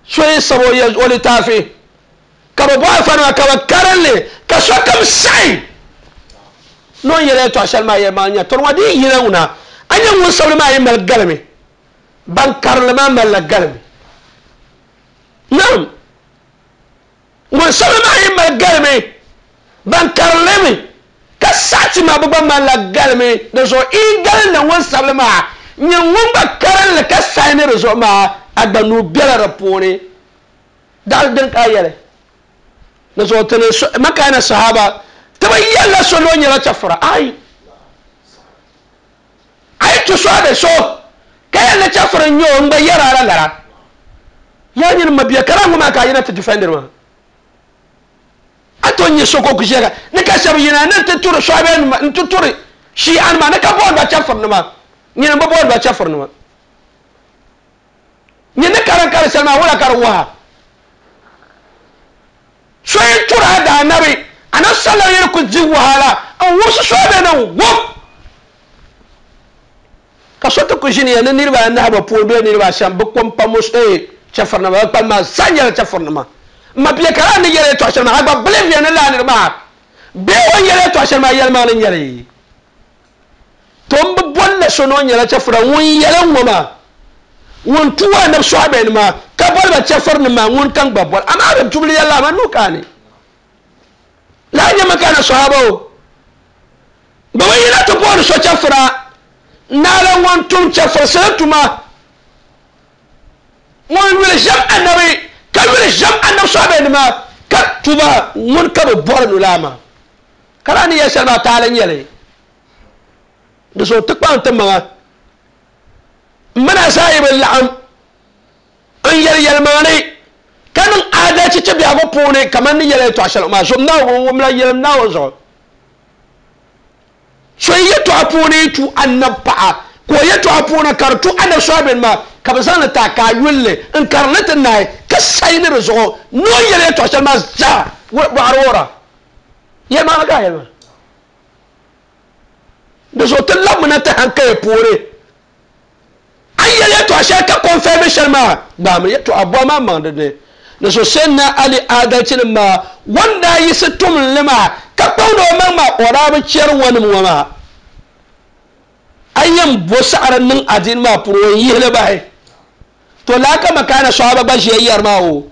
S3: so yi sabi o litaafi ka bi bɔhi fani maa ka bi karinli ka sokam saɣi ni o yɛla yɛltɔɣa shɛli maa yɛli maa nya tɔri ŋɔ di yi yina ŋuna a nyɛ ŋun sabili maa yi mali galimi ban karili maa malila galimi naam ŋun sabili maa yi mali galimi ban karili mi ka saɣati maa bi gba malila galimi di zuɣu i galindi ŋun sabili maa nyɛ ŋun gba karinli ka saɣi ni di zuɣu maa a gba nuu bela di puuni daɣali din ka a yɛli di zuɣu tini makaana sahaba ti bi yɛlila so ni o nyɛla chɛfura ayi a yi tu so a be so ka yɛli ni chɛfuri n nyɛ o n gba yɛra a la lara yaa nyini mabia kara ŋɔ maa ka a yina ti difɛndiri maa a to nyɛ so ko ku ʒiya ni ka shɛba yina ni ti turi sɔhibe nima n ti turi shi'a nima ni ka booni ba chɛfuri nima nyini bi booni ba chɛfuri nima nyini ni karin kari shɛli maa wula ka di waha so yi turi a daa nabi anabi sallallahu alaihi ku di wahala n wusi sɔhibe ni wup ka so ti ku ʒiniya ni niriba anahi bi puuni bee niriba ashɛm bi kom pa mus ee chɛfuri nima bi kpali maa zaa nyɛla chɛfuri nima mabia kara ni yɛlɛ yɛltɔɣa shɛli maa a gba believe ya ni laa niri maa bee o ni yɛlɛ yɛltɔɣa shɛli maa yɛlimaŋli n nyɛli to n bi bolila so ni o nyɛla chɛfura ŋun yɛli ŋɔ maa ŋun tu anabi sɔhibe nima ka boli ba chɛfuri nima ŋun ka n gba boli amaa bi tubili yɛlli amaa nuu kaani laa nyɛmi ka na sɔhaba o bi bi yina ti booni so chɛfura naala ŋun tum chɛfuri sili tuma ŋun yuli ʒɛm anabi ka yuli ʒɛm anabi sɔhibe nima ka tuba ŋun ka bi bɔri nu laa maa ka laa ni yɛli shɛli maa taali n nyɛli di zuɣu ti kpaŋ ti maŋa n mina zaa yi bi laɣim n yɛli yɛlimaŋli ka niŋ adalci ti biɛhigu puuni kamani ni yɛli yɛltɔɣa shɛli maa zuɣu Naawuni wumla yɛlim Naawuni zuɣu so yi yɛltɔɣa puuni tu anabi paɣa ka o yɛltɔɣa puuni ka di tu anabi sɔhibe nima ka bi zaŋli taai ka a yulli n karili ti naai ka sayi ni di zuɣu ni o yɛli yɛltɔɣa shɛli maa zaa bɔɣari wuhira yɛlimaŋli ka a yɛli maa di zuɣu ti labimina ti hankali puuni a yɛli yɛltɔɣa shɛli ka kɔnfɛmi shɛli maa gbaami yɛltɔɣa bɔha maa maŋ di ni di zuɣu sayyidina Ali adalci nim maa wanda yiɣisi tumli maa ka kpaŋdi o maŋ maa o daa bi chɛri ŋɔnim ŋɔ maa a yɛn bo saɣari niŋ adiini maa puuni o yihili bahi to laa ka makaana sɔhaba gba ʒiya yɛri maa o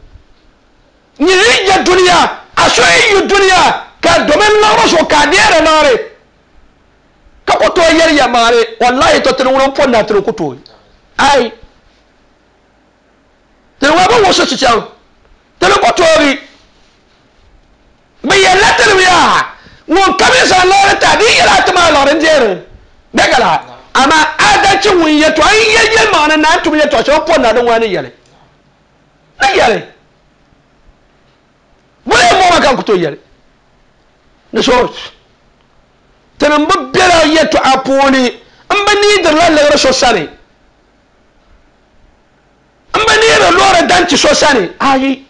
S3: nyini yi yɛ duniya a so yi yu duniya ka domin liɣiri zuɣu ka a deeri liɣiri ka ku tooi yɛli yɛlimaŋli wallahi to tini ŋuni n pɔri na tini ku tooi ai tini ŋuni bi wuɣisi chichaŋ tini ku toogi bi yɛlila tini yaa ŋun ka mi zaŋ liɣiri ta di yɛla ti maa liɣiri n deeri bɛgala amaa adalci ŋun yɛltɔɣa n yɛli yɛlimaŋli na n tum yɛltɔɣa shɛli n pɔri na di ŋuni ni yɛli ni yɛli bolo yɛn mɔɣu maa ka n ku tooi yɛli ni so tini bi bela yɛltɔɣa puuni n bi niidirila liɣiri so sani n bi niidiri loori danti so sani ayi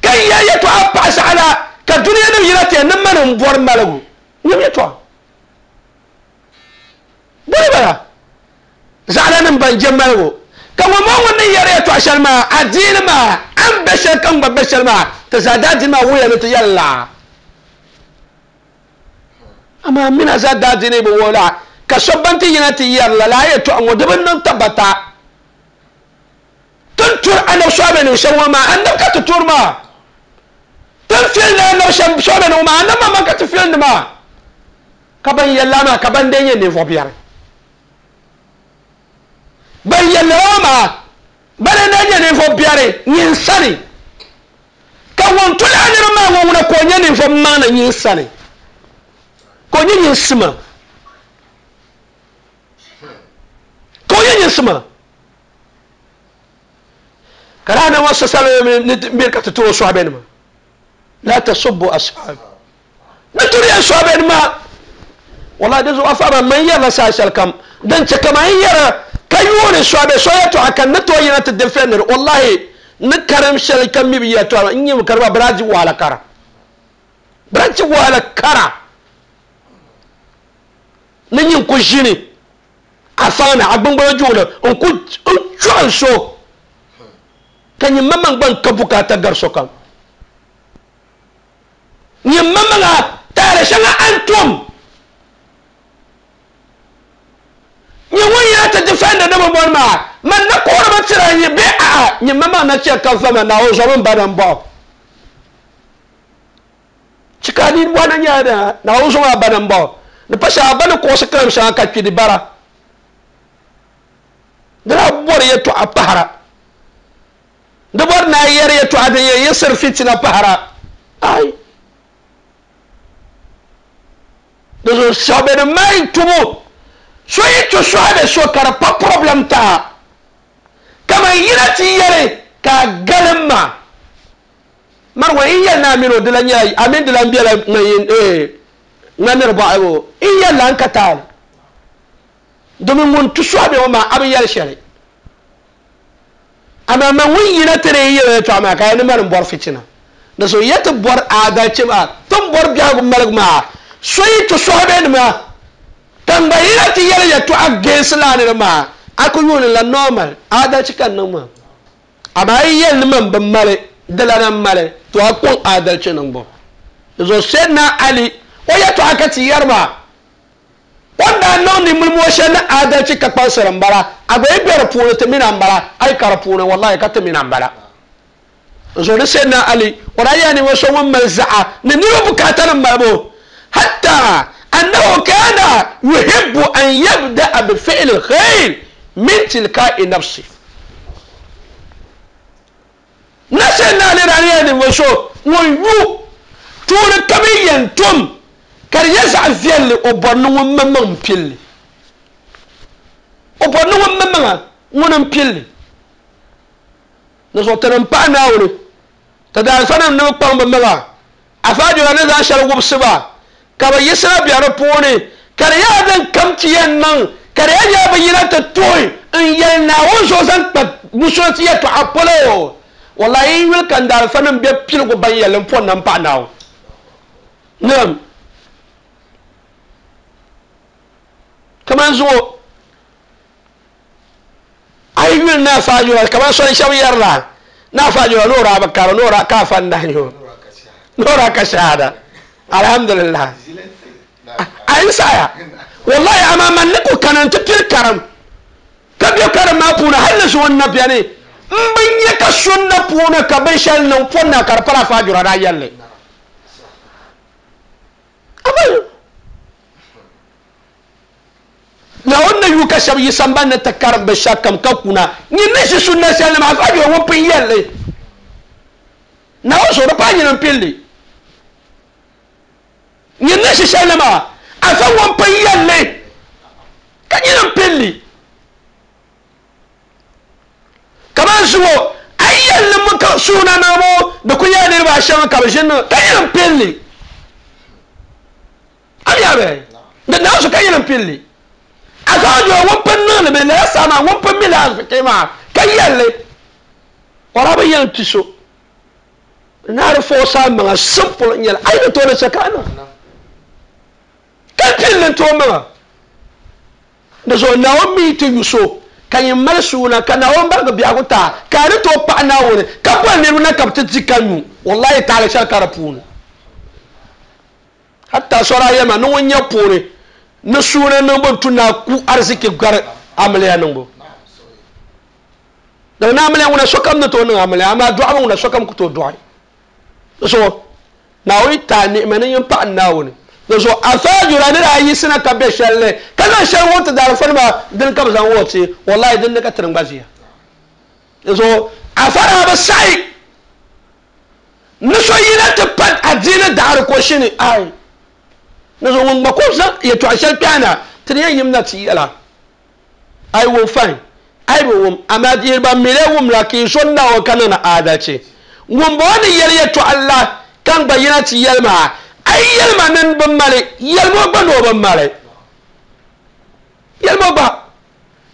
S3: ka n yɛli yɛltɔɣa paɣa saɣala ka duniya nim yina tiya ni mani n bɔri maligu nyɛm yɛltɔɣa boli bala zaɣala nim ban je maligu ka ŋun maa ŋun ni yɛri yɛltɔɣa shɛli maa adiini maa a ni be shɛli ka n gba be shɛli maa ti zaa daa diini maa wuya ni ti yɛli laa amaa mina zaa daa diini bi wuhi laa ka so ban ti yina ti yɛri la laa yɛltɔɣa ŋɔ di bi niŋ tabata tin turi anabi sɔhibe nim shɛba ŋɔ maa anabi ka ti turi maa tin filindi anabi sɔhibe nim maa anabi maa ka ti filindi maa Ka ban yɛlla maa ka ban dee nyɛ ninvuɣu biɛri ban yɛlla ŋɔ maa bana n nyɛ ninvuɣu biɛri nyin sani ka ŋun tuli a niriba maa ŋɔ ŋuna ka o nyɛ ninvuɣu maŋli nyin sani ka o nyɛ nyin sima ka o nyɛ nyin sima ka daa na ŋɔ sasali ni miri ka ti ti o sɔhibe la tasubbu ashabi ni turi ya sɔhibe nima wallahi di zuɣu afa man yɛrila saha shɛli kam din chɛ kama n yɛra ka yuuni sɔhibe so yɛltɔɣa ka ni tooi yina ti defendiri wallahi ni karim shɛli ka mi bi yɛltɔɣa n nyɛ kariba biraji wahala kara biraji wahala kara ni nyin ku ʒini a faŋ ni a gbungbuna juɣuli n ku n chɔɣi so ka nyin maŋmaŋ gba n ka bukaata gari sokam nyin maŋmaŋa taali shɛŋa a ni tum nyin ŋun yina ti defendi ni bi bɔri maa man na kuhiriba tira nyi bee a'a nyin maŋmaŋ na chɛ ka vama Naawuni zɔmi n ba na n bɔɣu chika ni bɔhi na nyɛla Naawuni zɔmi a ba na n bɔɣu ni pa shɛŋa ba ni kuɣusi karim shɛŋa ka kpi di bara di daa bɔri yɛltɔɣa pahara di bɔri ni a yɛri yɛltɔɣa din yɛn yiɣisiri fitina pahara ai di zuɣu sɔhibe ni maa tubu so yi ti sɔhibe so ka di pa problem taa kaman yina ti yɛli ka a galim ma mari ŋɔ n yɛli ni a mini o di la nyɛla a mini di lan bela ŋmaniri bɔɣibu n yɛli la n ka taali domin ŋun ti sɔhibe ŋɔ maa a bi yɛli shɛli amaa man ŋun yina ti di yɛli yɛltɔɣa maa ka ya ni mani n bɔri fitina di so ya ti bɔri adalchi maa ti ni bɔri biɛhigu maligu maa so yi ti sɔhibe nima ka n gba yina ti yɛli yɛltɔɣa geensi laa niri maa a ku yuuni la normal adalchi ka n niŋ maa amaa yi yɛli ni man bi mali di lana mali to a kɔŋ adalchi niŋbu di zuɣu Sayyidina Ali o yɛltɔɣa ka ti yɛri maa o ni daa niŋ nimilimo shɛli ni adalchi ka kpaŋsiri n bala a gba yi be di puuni ti mina n bala a yi ka di puuni wallahi ka ti mina n bala zuɣu ni Sayyidina Ali o daa yɛla ninvuɣu so ŋun mali zaɣa ni niriba bukaata ni malibu hatta annahu kana yuhibbu an yabda'a bi fi'li al-khayr min tilka'i nafsi na Sayyidina Ali daa yɛla ninvuɣu so ŋun yu tuuni ka bi yɛn tum ka di nyɛ zaɣ viɛlli o bɔri ni ŋun maŋmaŋ n pilli o bɔri ni ŋun maŋmaŋa ŋuni n pilli ni zuɣu ti ni paɣa Naawuni ti daalifa nim ni bi kpaŋ bi maŋa afaajura ni zaŋ shɛli wubisi ba ka bi yiɣisira bɛ di puuni ka di nyɛla din kam ti yɛn niŋ ka di yɛn nyɛla bi yina ti tuhi n yɛli Naawuni zuɣu zaŋ kpa musulinsi yɛltɔɣa polo wallahi n yuli ka n daalifa nim bɛ piligu ban yɛlli n pɔri na n paɣa Naawuni naam kaman zuɣu a yi yuli na afaajura kaman soli shɛba yɛrila na afaajura ni o daa bi kari ni o daa ka afa n dahi o ni o daa ka shahada alhamdulillah a yi saya wallahi amaa man ni ku kana n ti pili karim ka bɛ karim maa puuni hali ni zuɣu n na bɛni n bi nyɛ ka sunna puuni ka binshɛli niŋ pɔri na ka di pala afaajura daa yɛlli Naawuni ni yu ka shɛba yi sambani ni ti karim binshɛɣu kam ka kuna nyin ni ʒi sunna shɛli ni maa afaajura ŋun pun yɛlli Naawuni zuɣu di paai nyini n pilli nyin ni ʒi shɛli ni maa afa ŋun pun yɛlli ka nyini n pilli kaman zuɣu a yi yɛlli mi ka suuna niŋbu di ku nyɛla niriba ashɛm ka bi ʒini niŋ ka nyini n pilli a mi yaabɛ di Naawuni zuɣu ka nyini n pilli afaajura ŋun pun niŋli mi lala saa maa ŋun pun mi la arziki maa ka yɛlli o daa bi yɛn ti so naari fɔɔsa a maŋa simple n nyɛli a yi ni tooi ni chɛ ka a niŋ ka pilli n tooi maŋa di zuɣu Naawuni mi ti yu so ka nyin mali suuna ka Naawuni barigi biɛhigu taa ka a ni tooi paɣi Naawuni ka boli niriba na ka bi ti di ka nyu wallahi taali shɛli ka di puuni hatta sɔra yɛma ni ŋun nyɛ puuni ni suuna niŋbu n tu na ku arziki gari amiliya niŋbu daga na amiliya ŋuna sokam ni tooi niŋ amiliya amaa dɔɣibu ŋuna sokam ku tooi dɔɣi so Naawuni taa ni'ima ni nyin paɣi Naawuni Do so afajura ni ayi sina ka be shelle kana shel wonta dar farma din ka bazan woti wallahi din ka tirin gbaziya so afara ba sai ni so yina ti pat adina dar ko shini ai ni so won ko sa ya to ashal piana tin yan yimna ti yala ai wo fine ai bo wum amma dirba mele wum la ki so na o kana na adace wum bo ni yel ya to Allah kan bayina ti yelma ai yelma nan ban male yelmo ba no ban male yelmo ba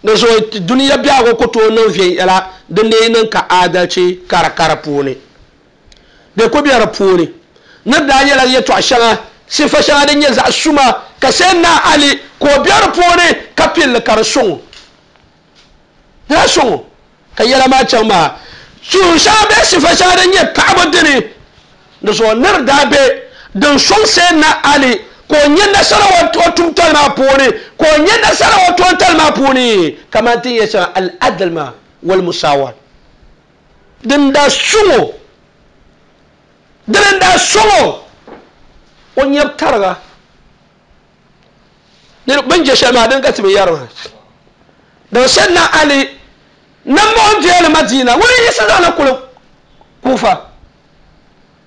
S3: na so duniya biya ko ko to nan fiye yala din ne nan ka adalci kara kara pune de ko biyar pune na da yela ya to ashana sifa shana din ya za suma ka sai na ali ko biyar pune ka fil karsun da sun ka yela ma can ma su sha be sifa shana din ya ka dini da so nar da be don son sai na ali ko nye nasara wa tumtal ma pune ko nye nasara wa tumtal ma pune kamar tin ya san al adl ma wal musawat din da sumo din da sumo on yab targa ne ban je shama din ka tibi yarma da sai na ali nan mo je madina wuri yasa zana kula kufa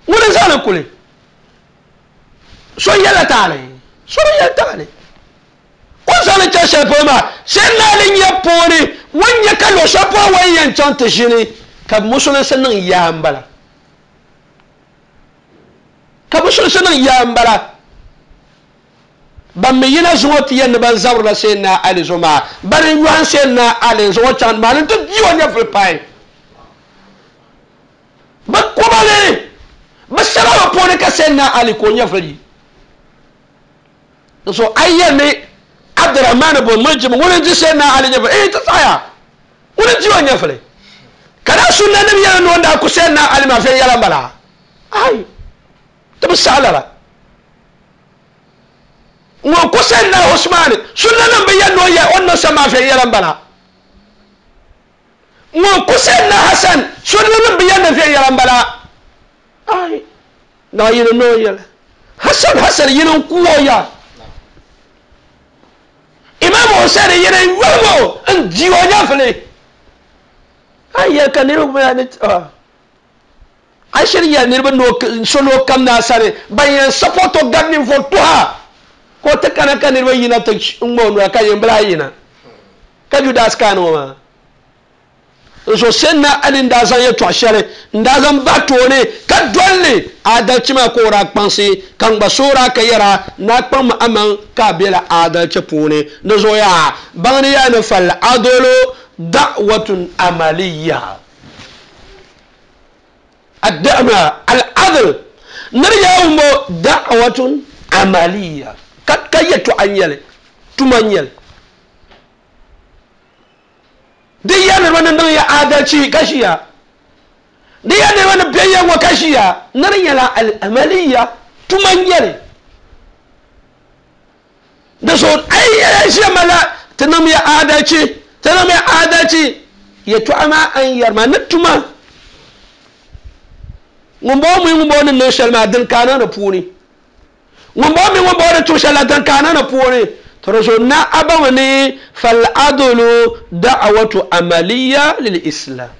S3: wuri zana kula so yala tale so yala tale ko zan ta shepo ma sen na lin ya pori wanya kallo shepo wayan chanta shine ka musulun sanin ya ambala ka musulun sanin ya ambala ban mi yina zuwa tiyan ban zawra sen na ali zuma barin yuan sen na ali zuwa chan malin to jiwa nya fulpai ba kubale ba sababa pori ka sen na ali ko nya fali so ayyane Abdurrahman ibn Muljim wurin ji sai na Ali ne ba eh ta tsaya wurin ji wannan fare kada sunna nabi yana non da ku sai na Ali ma fa yaran bala ai ta bisalara ngo ku sai na Usman sunna nan bayan no ya wannan sa ma fa yaran bala ngo ku sai na Hassan sunna nan bayan na fa yaran bala ai na yin no yala Hassan Hassan yin kuwo ya Imam Hussein yene yomo en jiwo nyafle ay ka ne ko ya ne ay shiri ya ne no solo kam na sare bayan support ganni fo tuha ko te kana kan ne yina te ngbo no ka yembra yina ka judas kanu ma so senna alin da zan ya to shere nda zan ba to ne ka dolle adalci ma ko ra kpansi kan ba sora ka yara na kpan ma aman ka bela adalci pune na zo ya bangani ya na fal adolo da'watun amaliya ad-da'ma al-adl narya ummo da'watun amaliya ka kayatu anyale tumanyale duk yanar wannan nan ya adalci kashiya duk yanar wannan biyayyen wa kashiya nan yana al'amaliya tumanyare da so ai ya shi mala tanam ya adalci tanam ya adalci ya tu'ama an yarma na tuma mun bo mu mun bo nan shalma din kana na puni mun bo mu mun bo da to shala din kana na puni ترجو نا أبوني فالعدل دعوة عملية للإسلام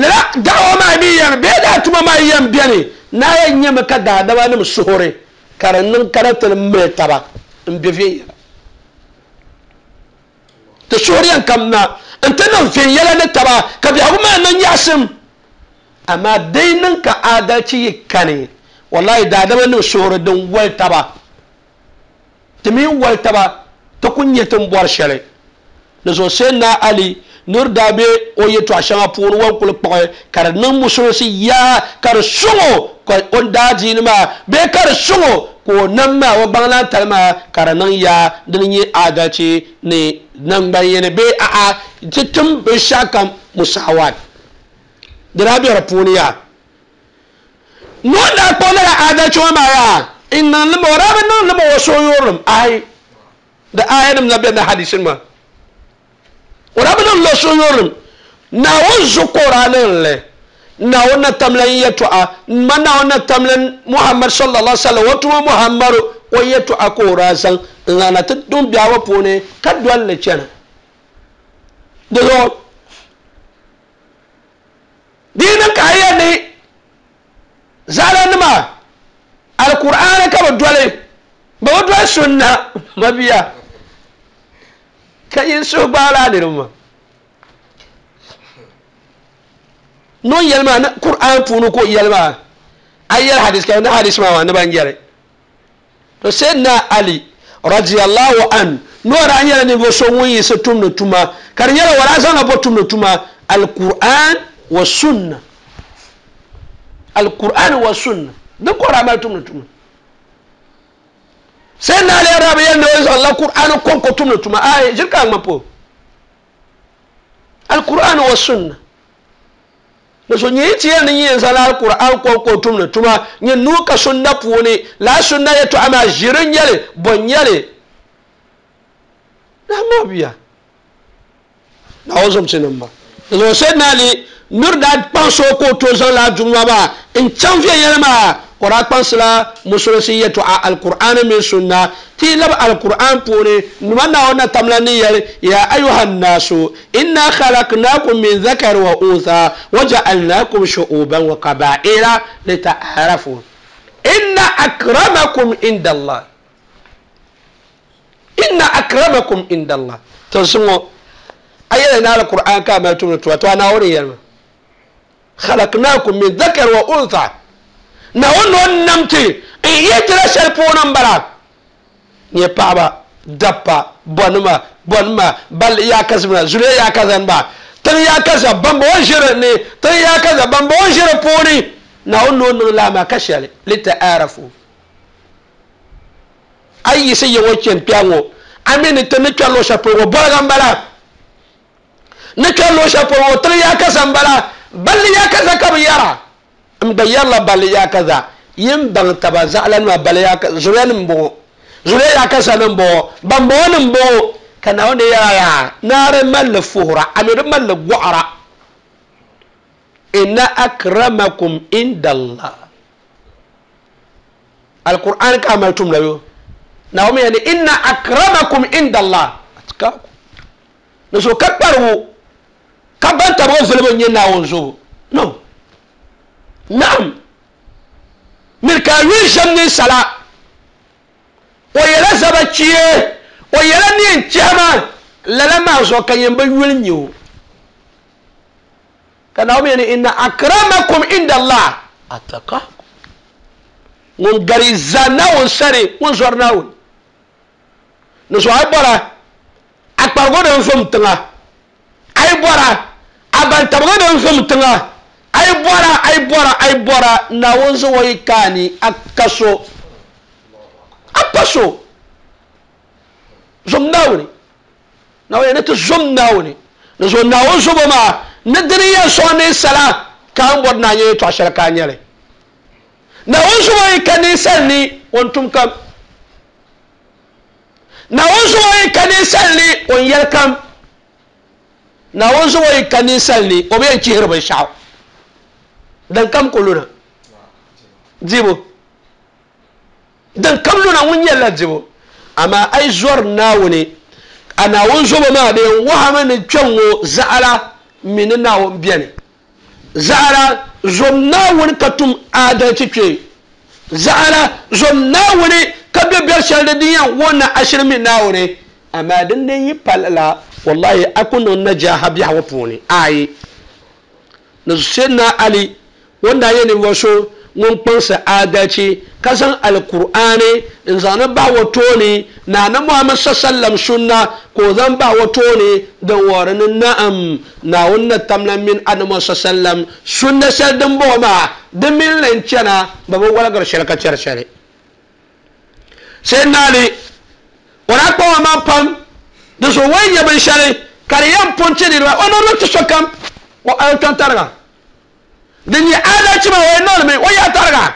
S3: لا دعوة ما بيان بيدا تما ما يم بياني نا ينم كدا دوا نم سهوري كارنن كارت المرتبة مبفي تسهوري كمنا انت نم في يلا نتبا كبي أقوم أنا ياسم أما دينن كعادتي كني والله دا دوا نم سهوري دون ولتبا timi waltaba ta kunye tin bor shɛli ni so sayyidina Ali nur daa be o yɛltɔɣa shɛŋa puuni wan kuli kpuɣi ka di niŋ musulinsi yaa ka di suŋo ka o daa diini maa bee ka di suŋo ka o nam maa o gbaŋ tali maa ka di niŋ yaa dini nyɛ adalci ni nangbani yini bee a'a ti tim binshaɣu kam musawat di daa be di puuni yaa ŋun daa kpuɣi lala adalci ŋɔ maa yaa in niŋ lima o daa bi niŋ lima o sooyorilim ai da ayanim na be na hadisin ma o daa bi niŋ lo sooyorilim naawuni zuɣu ka o daa niŋ li Naawuni tamlan yɛtɔɣa ma Naawuni tamlan Muhammad sallallahu alaihi wasallam o tuma Muhammadu o yɛtɔɣa ka o daa zaŋ n zaŋna ti dun biɛhigu puuni ka doli li chana di zuɣu di yi niŋ ka a yɛli ni zaɣalanima alkur'aani ka bi doli bi bi doli sunna mabia ka yin suhu gbaala niriba maa non yɛli maa ni Qur'an puuni ka o yɛli maa a yɛli hadis ka ni hadis maa ni ban yɛli to Sayyidina Ali radiyallahu an ni o daa nyɛla ninvuɣu so ŋun yiɣisi tumdi tuma ka di nyɛla o daa zaŋla bo tumdi tuma al-Qur'an wa sunna al-Qur'an wa sunna din ka o daa mali tumdi tuma Sayyidina Ali daa bi yɛli ni o zaŋla Qur'an kɔŋko tumdi tuma ayi ʒiri ka a ŋma po al-Qur'an wa sunna da so nyɛ ti yɛli ni yɛn zaŋla al-Qur'an kɔŋko tumdi tuma nyɛ nuu ka sunna puuni laa sunna yɛtɔɣa maa ʒiri n-nyɛli bɔ n-nyɛli na ma biya na o zomsi nim ba da so Sayyidina Ali nuri daa kpaŋsi o ka o tooi zaŋ laa duma maa n chaŋ viɛnyɛla maa o daa kpaŋsila musulunsi yɛtɔɣa al-Qur'an mini sunna ti lab al-Qur'an puuni nima Naawuni na tamla ni yɛli ya ayuha nnaasu inna khalaqnakum min dhakari wa untha wa ja'alnakum shu'uban wa qaba'ila lita'arafu inna akramakum inda Allah inna akramakum inda Allah to zuŋɔ a yɛli ni al-Qur'an ka mali tumdi tuma to a Naawuni yɛli ma khalaqnakum min dhakari wa untha Naawuni o namti n yɛtila shɛli puuni n bala nyɛ paɣaba dabba bɔnima bɔnima balli yaakazimina zuliya yaakazaniba tiŋ yaakaza bambɔŋɔ ʒiri ni tiŋ yaakaza bambɔŋɔ ʒiri puuni Naawuni o niŋ laa maa ka shɛli lita'arafu a yi yiɣisi yiŋɔ chani kpɛha ŋɔ a mi ni ti ni kpɛri luɣu shɛli polo ŋɔ bɔliga n bala ni kpɛri luɣu shɛli polo ŋɔ tiŋ yaakaza n bala balli yaakaza ka bi yɛra n gba yɛrila balli yaakaza yin baŋ taba zaɣalanima balli yaakaza zuliya nim bɔŋɔ zuliya yaakaza nim bɔŋɔ bambɔŋɔ nim bɔŋɔ ka Naawuni yɛra yaa naari malli fuhura a mi di malli gɔɣara inna akramakum inda Allah al-Qur'an ka mali tumda yo Naawuni yɛli inna akramakum inda Allah atqakum ni so ka kparigu ka ban tabiga vulibu n nyɛ Naawuni zuɣu no naam miri ka a yuli ʒɛm ninsala o yɛla zaba chie o yɛla neen chɛhima lala maa zuɣu ka yɛn bi yuli nyɛ o ka Naawuni yɛli inna akramakum inda Allah atqakum ŋun gari zaa Naawuni sani ŋun zɔri Naawuni ni so a yi bɔra a kparigu din vum tiŋa a yi bɔra a bantabiga din vum tiŋa a yi bɔra a yi bɔra a yi bɔra Naawuni zuɣu yi kaani a ka so a pa so zom Naawuni Naawuni ni ti zom Naawuni ni so Naawuni zubo maa ni dini yɛn sɔŋ ninsala ka a ni bɔri ni a nyɛ yɛltɔɣa shɛli ka a nyɛli Naawuni zubo yi ka ninsal ni o ni tum kam Naawuni zubo yi ka ninsal ni o ni yɛli kam Naawuni zubo yi ka ninsal ni o bi yɛn chihiri binshaɣu din kam ku luna dibu din kam luna ŋun nyɛlila dibu amaa a yi zɔri Naawuni a Naawuni zubo maa di yɛn wahami ni kpɛŋ ŋɔ zaɣala mi ni Naawuni bɛni zaɣala zom Naawuni ka tum adalci kpee zaɣala zom Naawuni ka be bɛri shɛli din yɛn wuhi na ashiri mi Naawuni amaa din din yi pali la wallahi a ku niŋ najaaha biɛhigu puuni ayi ni Sayyidina Ali wanda nyɛ ninvuɣu so ŋun kpaŋsi adalci ka zaŋ al-Qur'ani n zaŋ ni bahi o tooni na ni Muhammad sallam sunna ka o zaŋ bahi o tooni din wuhiri ni na'am Naawuni ni tamla mini annabi sallam sunna shɛli din bɔŋɔ maa di mini li n chana bi bi waligiri shɛli ka chɛri shɛli Sayyidina Ali o daa kpaŋ o maŋ pam di zuɣu o yi nyɛ binshɛli ka di yɛn pun ti niriba o niŋdi ti sokam o kpɛŋ tariga din nyɛ adalci maa o yɛn niŋdimi o yaa tariga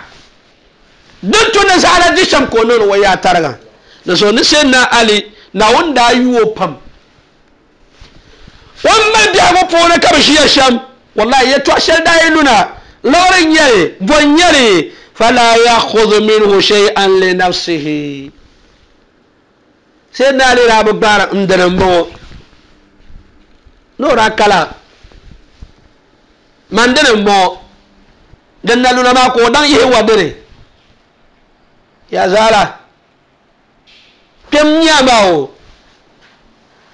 S3: din tu ni zaɣala di shɛm ka o niŋdi o yaa tariga di zuɣu ni Sayyidina Ali Naawuni daa yu o pam o ni mali biɛhigu puuni ka bi ʒiya shɛm Wallahi yɛltɔɣa shɛli daa yi luna lɔɣiri n-nyɛli bɔ n-nyɛli fala yaxudu minhu shay'an li nafsihi Sayyidina Ali daa bi gbaari n dini m-bɔŋɔ ni o daa kala man dini m-bɔŋɔ din na luna maa ka o daŋ yihi wa dini ya zaala kpɛm nyama o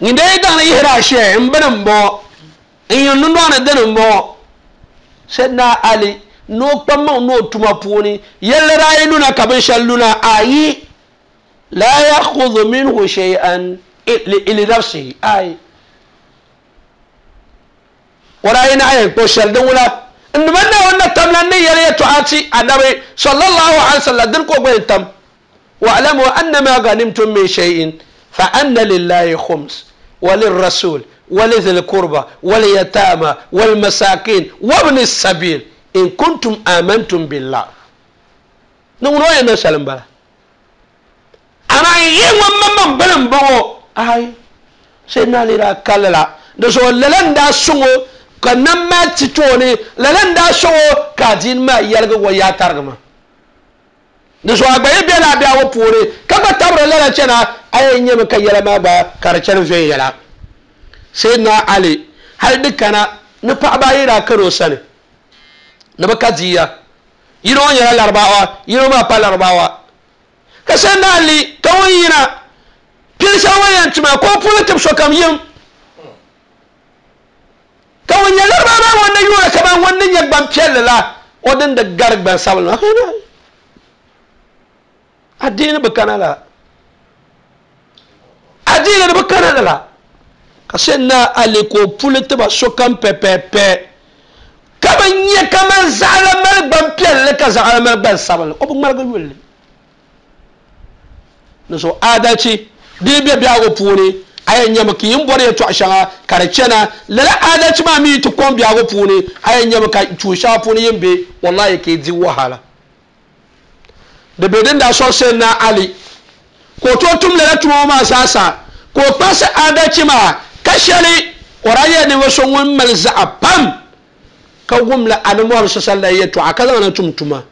S3: ŋun dee daŋ ni yihira a shee n bini m-bɔŋɔ n yin dundɔŋ ni dini m-bɔŋɔ Sayyidina Ali ni o kpaŋmaŋ ni o tuma puuni yɛlli daa yi luna ka binshɛli luna ayi la yaxudu minhu shay'an li nafsihi ayi o daa yi naɣ yɛn kpuɣi shɛli din wula n nima Naawuni na tamla ni yɛli yɛltɔɣa ti anabi sallallahu alaihi wasallam dini ka o gba yɛn tam wa'lamu annama ghanimtum min shay'in fa anna lillahi khums wa lirrasul wa lidhil qurba wal yatama wal masakin wa ibn sabil in kuntum amantum billah ni ŋun o yɛn niŋ shɛli m-bala amaa n yi ŋun maŋmaŋ bini m-bɔŋɔ ai Sayyidina Ali daa kalli la di zuɣu lala n daa sɔŋ o ka nam maa ti tooni lala n daa sɔŋ o ka adiini maa yɛligi o yaa tarigi maa di zuɣu a gba yi bela a biɛhigu puuni ka gba tabiri lala chana a yɛn nyɛmi ka yɛla maa gba ka di chani viɛnyɛla Sayyidina Ali hali di kana ni paɣaba ayi daa kari o sani ni bi ka diya yino ŋɔ nyɛla Larabawa yino maa pa Larabawa ka Sayyidina Ali ka ŋun yina pili shɛli ŋun yɛn tima ka o puuni tib sokam yim ka ŋun nyɛ Larabawa maa ŋun ni yuuni kaman ŋun ni nyɛ gbampiɛlli la o din di gari gbansabinli maa adiini bi kana la adiini bi kana la ka Sayyidina Ali ka o puli tiba sokam pɛpɛpɛ ka bi nyɛ kaman zaɣala mali gbampiɛlli ka zaɣala mali gbansabinli o bi ŋmaligi yulli ni so adalci di bɛ biɛhigu puuni a yɛn nyɛmi ka yin bɔri yɛltɔɣa shɛŋa ka di chana lala adalci maa mi ti kɔŋ biɛhigu puuni a yɛn nyɛmi ka tuun shɛŋa puuni yin be wallahi ka yi di wahala di be din daa sɔŋ Sayyidina Ali ka o tooi tum lala tuma ŋɔ maa zaasa ka o kpaŋsi adalci maa ka shɛli o daa nyɛla ninvuɣ so ŋun mali zaɣa pam ka wumla Annabi Muhammad sallallahu alaihi yɛltɔɣa ka zaŋ na tum tuma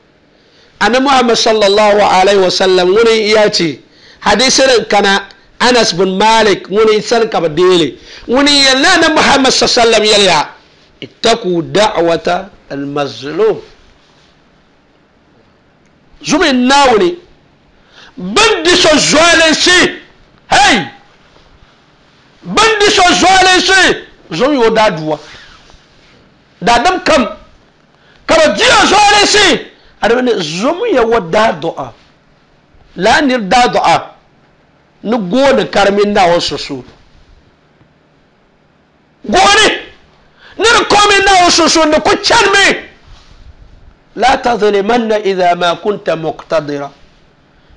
S3: Annabi Muhammad sallallahu alaihi wasallam ŋuni ya ti hadisi din kana Anas bin Malik ŋuni sani ka bi deeli ŋuni yɛli Annabi Muhammad sallallahu alaihi wasallam yɛliya ittaqu da'wata al-mazlum zumi Naawuni bin di so zualinsi hey bin di so zualinsi zum yo daa duwa daadam kam ka bi di o zualinsi adama ni zum ya wa daa du'a la nir daa du'a ni gooni karimi Naawuni sunsuuni gooni ni di komi Naawuni sunsuuni di ku chanimi la tadlimanna idha ma kunta muqtadira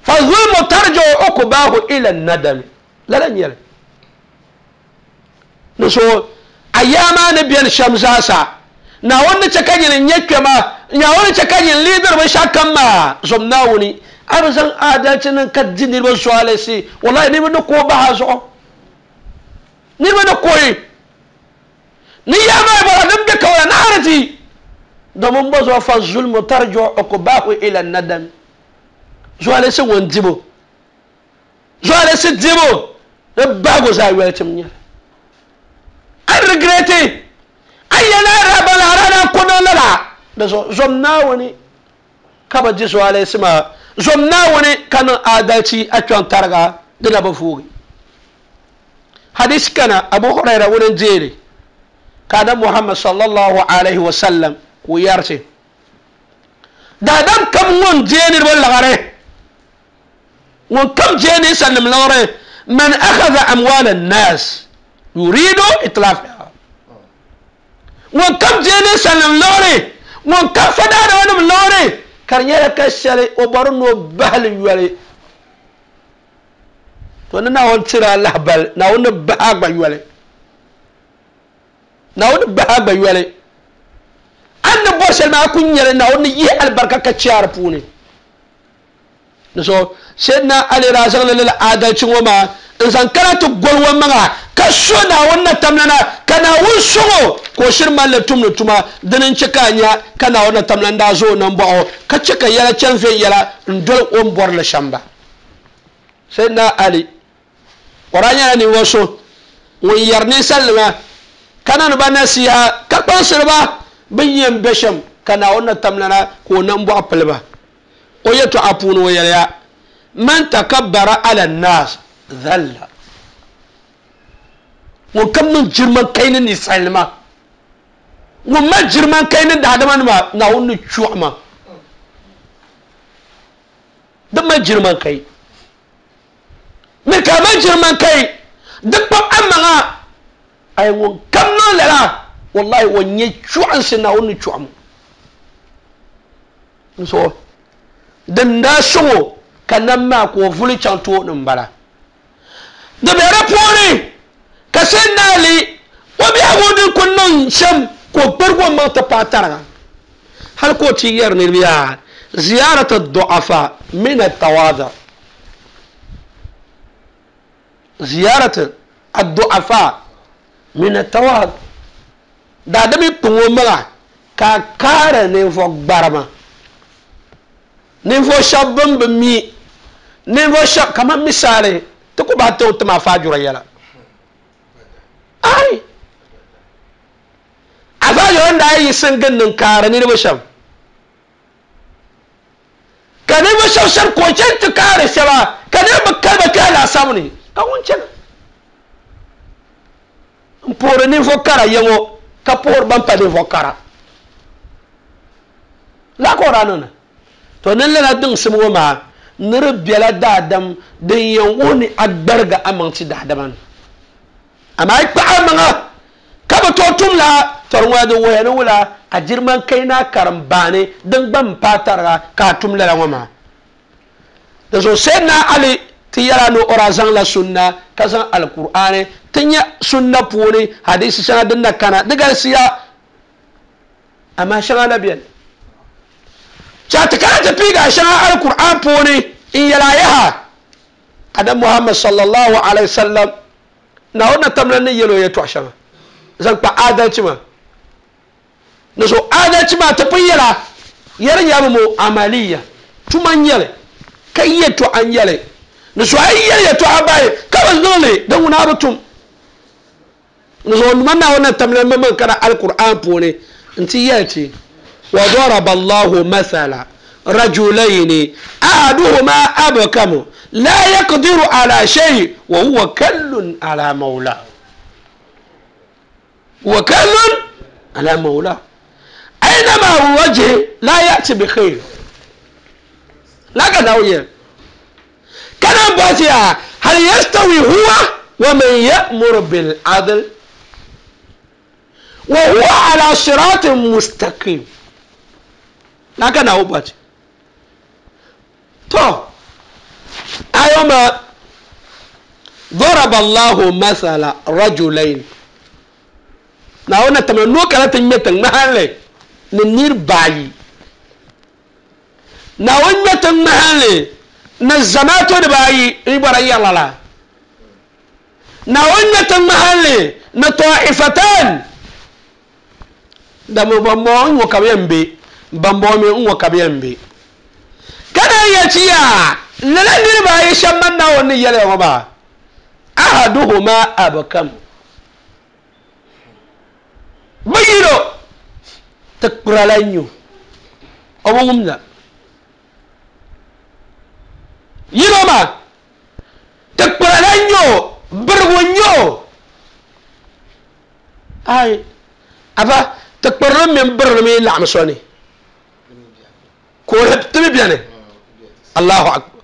S3: fa zulmu tarji'u uqbahu ila an-nadami lala nyɛli ni so a yaa maa ni beni shɛm zaasa Naawuni ni chɛ ka nyini n-nyɛ kpɛma Naawuni ni chɛ ka nyini liidiri binshɛɣu kam maa zom Naawuni a bi zaŋ adalci niŋ ka di niriba zualisi wallahi niriba ni kooi bahi a zuɣu niriba ni kooi ni yaa maa bɔra din be kawala naɣari ti domin bɔ zuɣu fa zulmu tarji'u uqbahu ila an-nadam zualisi ŋun dibu zualisi dibu di bahigu zaa yoli tim nyɛli a regreti a yɛli a rabala a rana kɔnɔ lala di zuɣu zom Naawuni ka bi di zualisi maa zom Naawuni ka niŋ adalci a kpɛŋ tariga di na bi vuugi hadisi kana Abu Huraira ŋuni n deeli ka Annabi Muhammad sallallahu alaihi wasallam ka o yɛriti daadam kam ŋun deei niriba liɣiri ŋun kam deei ninsalinima liɣiri man akhadha amwala an-nas yuridu itlafiha ŋun kam deei ninsalinima liɣiri ŋun kam fa daadamanima liɣiri ka di nyɛla ka shɛli o bɔri ni o bahili yoli to ni Naawuni tiri a lahibali Naawuni ni bahi a gba yoli Naawuni ni bahi a gba yoli a ni bɔri shɛli maa a ku nyɛli Naawuni ni yihi alibarika ka chɛ a di puuni So sayyidina Ali daa zaŋ li lala adalci ŋɔ maa n zaŋ kana ti goli o maŋa ka so Naawuni na tamlana ka Naawuni sɔŋ o ka o shiri malli tumdi tuma dini n che ka a nya ka Naawuni na tamlana daa zaŋ o nambɔɣu ka che ka yɛla chani viɛnyɛla n doli o ni bɔri li shɛm ba. Sayyidina Ali o daa nyɛla ninvuɣu so ŋun yɛri ninsalinima ka niŋdi ba nasiha ka kpaŋsiri ba bin yɛn be shɛm ka Naawuni na tamlana ka o nambɔɣu pili ba. O yɛltɔɣa puuni o yɛliya man takabbara ala nnas dhalla ŋun kam niŋ girman kai ni ninsalinima ŋun mali girman kai ni daadamanima Naawuni ni chuɣu ma di mali girman kai mi ka mali girman kai di kpab amaŋa ay ŋun kam niŋ lala wallahi o nyɛ chuɣunsi Naawuni ni chuɣu ma so din daa sɔŋ o ka nam maa ka o vuli chaŋ tooni n bala di be di puuni ka Sayyidina Ali o biɛhigu din ku niŋ shɛm ka o gbarigi o maŋ ti paai tariga hali ka o ti yɛri niriba yaa ziyaratu du'afa min at-tawadu ziyaratu ad-du'afa min at-tawadu daadami kpaŋ o maŋa ka kaara ninvuɣu gbarima ninvuɣu shɛba bin bi mi ninvuɣu shɛba kamani misali ti ku bahi tiŋ ti maa faajura yɛla ai a faajura n daa yiɣisi n gindi n kaari niriba shɛm ka ninvuɣu shɛba shɛba ka o chani ti kaari shɛba ka niriba bi kali ba kpɛhi laasabu ni ka ŋun chana n puhiri ninvuɣu kara ya ŋɔ ka puhiri ban pa ninvuɣu kara laa ka o daa niŋda to ni lala diŋsim ŋɔ maa ni di bela daadam din yɛn wuhi ni a gbariga amaŋ ti daadama ni amaa yi kpaɣi amaŋa ka bi tooi tum la tɔri ŋɔ din wuhiya ni wula a girman kai na karim baani din gba n paai tariga ka a tum lala ŋɔ maa di zuɣu Sayyidina Ali ti yɛla ni o daa zaŋla sunna ka zaŋ alkur'ani ti nyɛ sunna puuni hadisi shɛŋa din na kana di galisiya amaa shɛŋa na bɛni chati kana ti piiga shɛŋa alkur'an puuni n yɛla yaha adam Muhammad sallallahu alaihi wasallam Naawuni na tamla ni yɛl o yɛltɔɣa shɛŋa zaŋ kpa adalci maa ni so adalci maa ti pun yɛla yɛri nyɛbi mo amaliya tuma n nyɛli ka yɛltɔɣa n nyɛli ni so a yi yɛli yɛltɔɣa bayi ka bi niŋ li din ŋuna a bi tum ni so man Naawuni na tamla maŋmaŋ kana alkur'an puuni n ti yɛli ti وضرب الله مثلا رجلين أحدهما أبكم لا يقدر على شيء وهو كل على مولاه وكل على مولاه أينما وجه لا يأتي بخير لا كداوية كان باتيا هل يستوي هو ومن يأمر بالعدل وهو على صراط مستقيم لكن هو بات تو أيوما ضرب الله مثلا رجلين ناونا تمنو كلا تنمتن محل ننير باي ناونا تن محل نزماتو دباي يبرا يلا لا ناونا تن محل نطائفتان دمو بامو وكابيمبي bambɔ mi n ŋɔ ka bi yɛn be kana ya ciya lala niriba ayi shɛba man Naawuni ni yɛli ŋɔ maa ahaduhuma abkam bi yino ti kpurala n nyo o bi wumda yino maa ti kpurala n nyo birigu n nyo ai aba ti kpurili mini birili mi laɣim so ni ko tibi bɛni Allahu akbar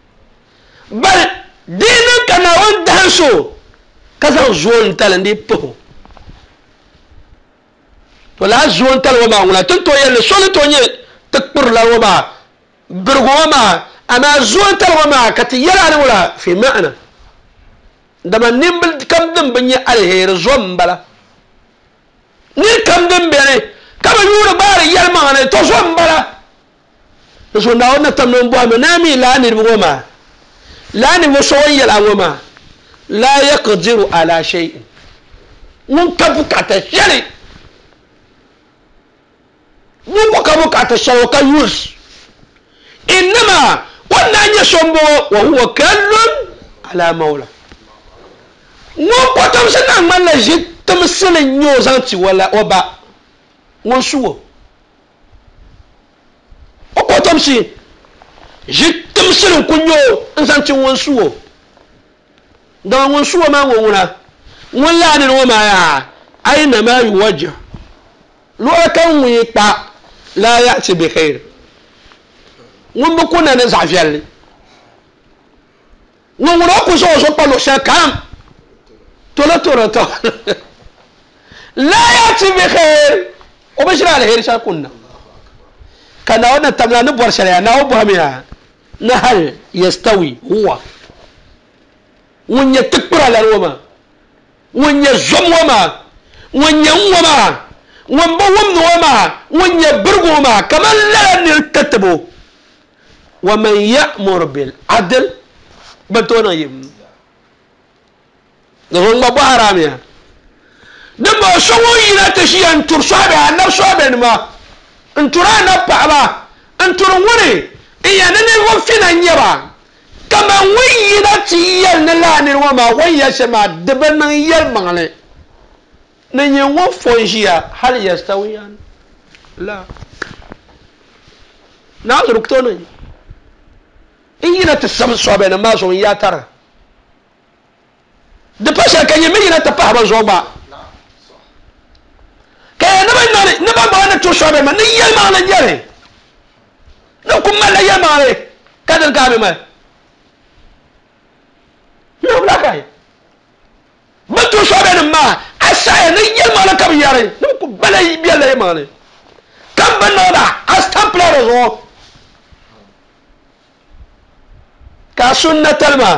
S3: bal diini ka Naawuni dahin so ka zaŋ zoon tali n di puhi to laa zoon tali ŋɔ maa ŋuna ti ni tooi yɛli ni so ni tooi nyɛ ti kpurila ŋɔ maa birigu ŋɔ maa amaa zoon tali ŋɔ maa ka ti yɛla ni wula fi ma'ana dama nimbil kam din bi nyɛ aliheri zom n bala nir kam din bɛni ka bi yuuri gbaari yɛlimaŋa ni to zom n bala So na wannan tamnon bo ma na mi la ni bo ma la ni bo so yela ngo ma la yaqdiru ala shay'in mun ka bukata shari mun ka bukata shari ka yus inma wannan ya sombo wa huwa kallun ala maula mun ko tamsana man la jitum silin yo zanti wala oba mun suwo o ko tamsi jitum silin kunyo zanti won suwo da won suwo ma won wuna won la ni wo ma ya aina ma yuwajja lo kan wi pa la ya'ti bi khair won bu kuna ne zafiyalle won wona ko so so pa lo shakam tola tola to la ya'ti bi khair o bashira al khair shakunna kana wannan tamla ni bor shari'a na o buhamiya na hal yastawi huwa won ya tikura la roma won ya zom wama won ya wama won ba won wama won ya burgo ma kaman la ni tatabo wa man ya'mur bil adl batona yim gon ba haramiya dan ba so won yina ta shi an tursabe annab sobe ma in tura na pa ba in turun wuri iya ne ne won fina nyaba kama won yina ti yel ne la ne wa ma won ya shema de ban nan yel mangale ne nye won fonjia hal yastawiyan la na rukto ne in yina ta sam sobe na ma so ya tara de pa sha kan yi yina ta pa ba zo ba kaya na ba na ba ba na to sobe ma ni yel ma na yere na kuma la yel ma le kadal ka be ma no bla kai ba to sobe na ma asaya ni yel ma na kam yare na ku bala yi bi la ma le kam ba na da astampla zo ka sunnatal ma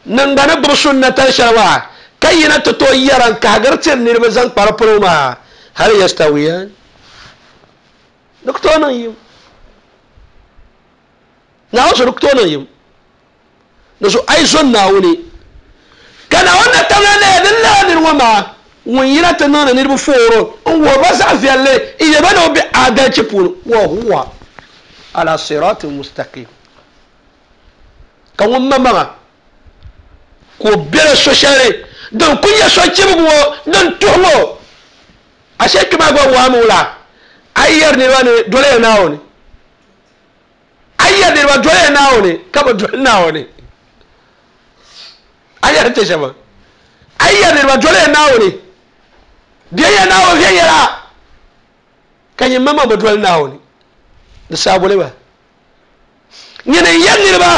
S3: nan ga na bu sunnatal sharwa kayina to to yaran ka gartin ne ba zan fara ma har yastawiyan doktor nan yi na wasu doktor nan yi da su ai sunna wuni kana wannan tamla ne din ladin wama wun yira ta nana ne bu foro in wa ba sa fiyalle iya ba no bi adalci pun wa huwa ala siratin mustaqim kan wamma ma ko bere so share don kunya so cibugo don tuhumo ashe kuma gwa wa mula ayyar ne wani dole na woni ayyar ne wa dole na woni kaba dole na woni ayyar te shaba ayyar ne wa dole na woni biya na woni yara kan yi mama ba dole na woni da sabole ba ni ne yan ne ba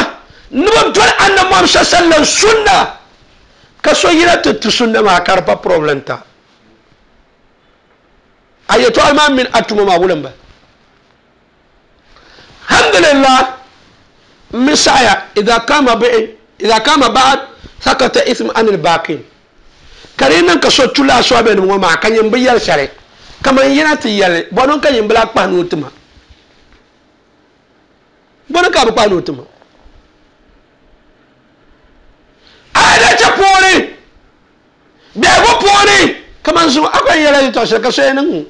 S3: nuba dole annabi Muhammad sallallahu alaihi sunna kaso yira tu sunna ma karpa problem ta ayato alma min atuma ma wulan ba alhamdulillah misaya idha kama bi idha kama ba'd sakata ism an al baqin kare nan kaso tula so be no ma kan yin biyar share kaman yana ti yale bonon kan yin bla pa no tuma bonon ka ba pa no tuma ada cha pori bego pori kaman su akwai yala to shaka sai nan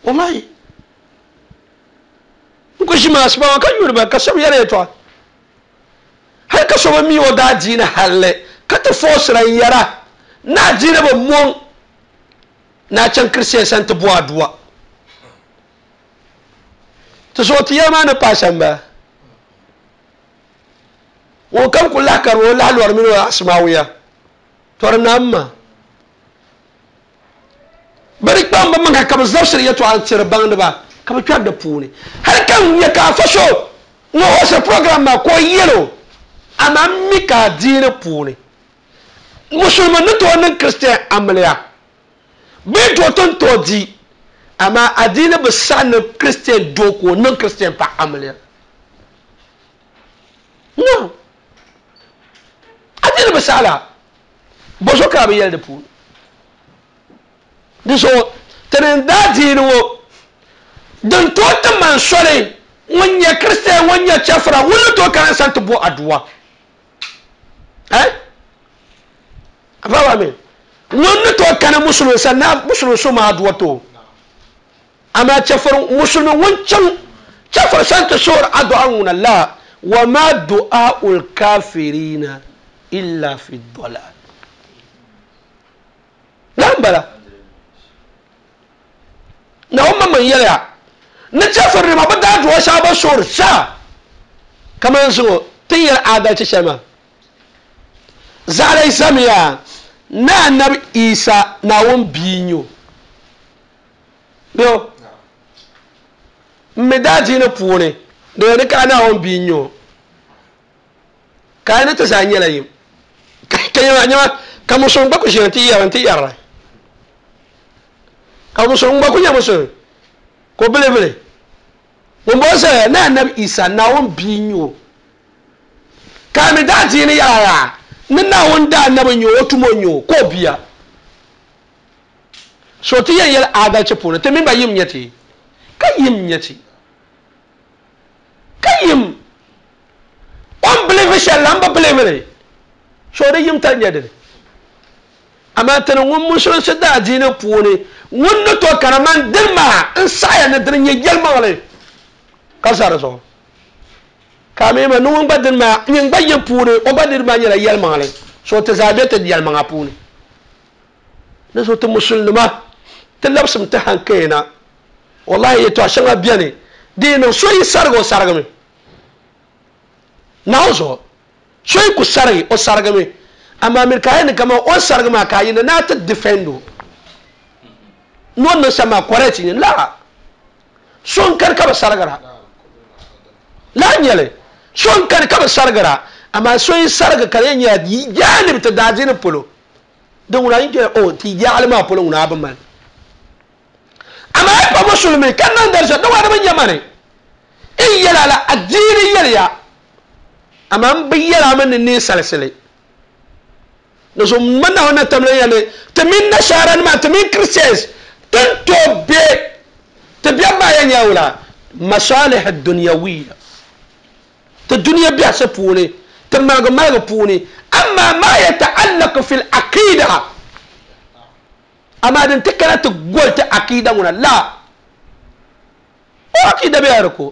S3: wallahi ko shi ma asba kan yurba ka sab yala to har ka so mi o da jina halle ka ta force ran yara na jina ba mon na can christian san ta buwa duwa to so ti yama na pashan ba wo kam ku lakar wo lalwar min wa asmawiya tor namma bari kpam ba man ka zabsir ya to an tsira bang ba ka ba da puni har kan ya ka fasho no hosa program ma ko yelo amma mi ka dina puni musulman to wannan christian amliya bi to ton to di amma adina ba sa na christian doko nan christian pa amliya no adina ba sala bozo ka bi yel da puni di so tenen da dini wo Din to ti man soli ŋun nyɛ kristian ŋun nyɛ chɛfura ŋun ni tooi kana san ti bo aduwa eh afawa mi ŋun ni tooi kana musulmi san na musulmi so ma aduwa to amma chɛfur musulmi ŋun chaŋ chɛfur san ti soori adu'a ŋuna la wa ma du'aul kafirina illa fi dalal la bala na umma man yɛlya ni chɛfur nima bi daa duwa shɛŋa bi soori sa kamani zuŋɔ ti yɛli adalci shɛli maa zaɣalai zamiya ni anabi Isa Naawuni bia n-nyɛ o bɛ n mi daa diini puuni di ni ka Naawuni bia n-nyɛ o ka a ni ti zaa nyɛla yim ka nyɛma nyɛma ka musulimi gba ku ʒini ti yɛri ti yɛrila ka musulimi gba ku nyɛ musulimi ko bili bili ŋun bɔ zaya ni anabi Isa Naawuni bia n-nyɛ o ka mi daa diini yɛla yaa ni Naawuni daa anabi n-nyɛ o o tumo n-nyɛ o ka o bia so ti yɛn yɛli adalci puuni ti mini ba yim nyɛ ti ka yim nyɛ ti ka yim o ni bilivi shɛli la n bi bilivi li so di yim tali nyɛ dini amma tini ŋun musulinsi daa diini puuni ŋun ni tooi kana man dini maa n saɣaya ni dini nyɛ yɛlimaŋli ka za di zuɣu ka mi ma ni ŋun gba dini maa nyin gba yim puuni o gba dini maa nyɛla yɛlimaŋli so ti zaa be ti yɛlimaŋa puuni ni so ti musulinima ti labsim ti hankali na wallahi yɛltɔɣa shɛŋa biɛni di yi niŋ so yi sarigi o sarigimi naawuni zuɣu so yi ku sarigi o sarigimi amma miri ka yi ni kama o sarigi maa ka yi ni naa ti defend o ni o niŋ shɛm maa correct nyɛ la so n kani ka bi sarigira la nyɛli so n kani ka bi sarigira amma so yi sarigi ka di yɛn nyɛla yaani bi ti daa diini polo din ŋuna yi kpɛ o ti yaɣali maa polo ŋuna bi mali amma yi pa musulmi ka niŋ dari shɛli di wani bi nyɛ mani n yɛla la adiini yɛliya amma n bi yɛla mi ni ninsalisili ni so ma naawuni na tamla yɛli ti mini nashaara nima ti mini christians tin tooi be ti biɛbi maa yɛn nyɛ wula masalih dunyawiya ti duniya biɛhisi puuni ti maligi maligi puuni amma ma yataallaqu fi al-aqida amma din ti kana ti goli ti aqida ŋuna la o aqida bɛ yɛri ko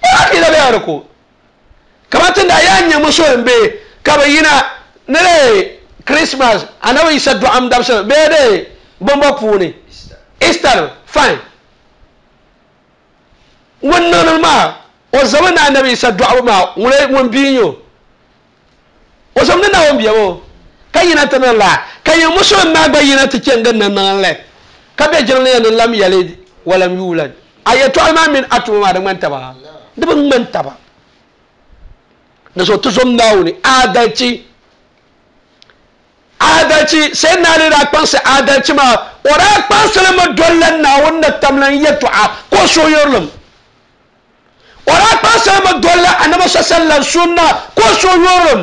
S3: o aqida bɛ yɛri ko kamar tun da yaa nyɛ musulin be ka bi yina ni de Christmas anabi Isa dɔɣim dabisili bee de bɔmbɔ puuni Easter fine ŋun niŋdi maa o zami ni anabi Isa dɔɣibu maa ŋun bia n-nyɛ o o zami ni Naawuni bia o ka yina ti niŋ la ka nyɛ musulin maa gba yina ti chɛŋ gindi niŋ li ka be jiŋli yɛn ni lam yalid walam yulad a yɛltɔɣali maa mini a tuma maa di ŋmani taba di bi ŋmani taba ni so ti zom Naawuni adalci adalci sai na ni daa kpaŋsi adalci maa o daa kpaŋsili mi dolila Naawuni ni tamla n yɛltɔɣa ka o suhuyurilim o daa kpaŋsili mi dolila anabi sallam sunna ka o suhuyurilim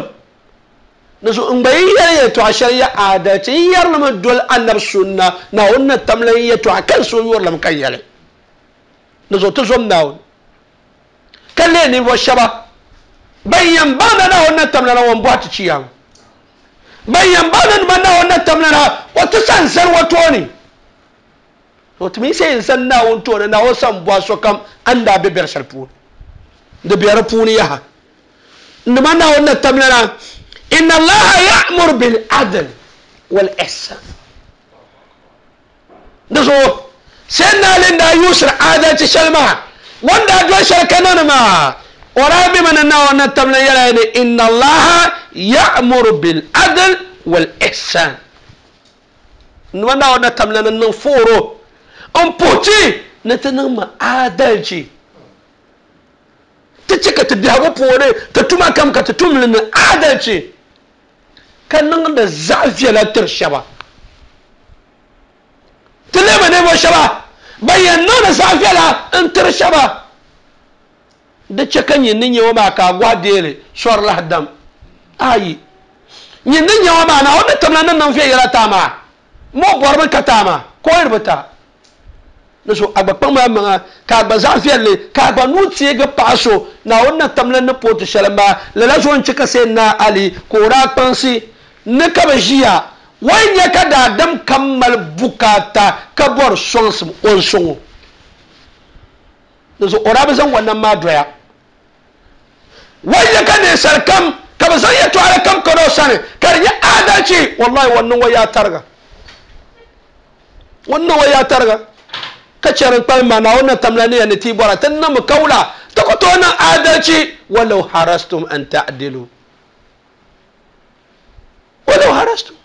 S3: ni so n gba yi yɛli yɛltɔɣa shɛli ya adalci n yɛrili mi doli anabi sunna Naawuni ni tamla n yɛltɔɣa ka n suhuyurilim ka yɛli ni so ti zom Naawuni ka leei ninvuɣu shɛba ban yɛn baŋda Naawuni na tamla na ŋun bɔhi ti chiyaama ban yɛn baŋda nima Naawuni na tamla na o ti san zani o tooni o ti mi se yɛn zani Naawuni tooni Naawuni san bɔhi sokam a ni daa be bɛri shɛli puuni di bɛ di puuni yaha nima Naawuni na tamla na inna Allaha ya'muru bil adl wal ihsan di zuɣu sai na ni daa yuusiri adalci shɛli maa ŋun daa doli shɛli ka niŋdi maa ورابي من النوع نتمنى يلا إن الله يأمر بالعدل والإحسان نوع نتمنى ننفورو أم بوتي نتنم عدلتي تشك تدهبو بوري تتوما كم كتتوم لنا عدلتي كان نغند زعفية لا ترشبا تلما نبو شبا بينونا زعفية لا انترشبا di chɛ ka nyin ni nyɛ o maa ka a gɔhi deeli sɔri lahi dam ayi nyin ni nyɛ o maa na o ni timla ni niŋ viɛnyɛla taa maa mo bɔrimi ka taa maa ka o yiri bi taa Niso agba kpaŋ maŋa ka agba zaɣ viɛlli ka agba nuu teegi paɣa so Naawuni na tamla ni pooti shɛli maa lala zuɣu n chɛ ka Sayyidina Ali ka o daa kpaŋsi ni ka bi ʒiya wai nyɛ ka daadam kam mali bukaata ka bɔri sɔŋsim o n sɔŋ o o daa bi zaŋ wannan maa doya wai nyɛ ka ninsal kam ka bi zaŋ yɛltɔɣali kam kana o sani ka di nyɛ adalci wallahi wannan wa yaa tariga wannan wa yaa tariga ka chɛri kpalim maa Naawuni na tamla ni ya ni ti bɔra ti niŋmi kawula ti ku tooi niŋ adalci walau harastum an ta'dilu walau harastum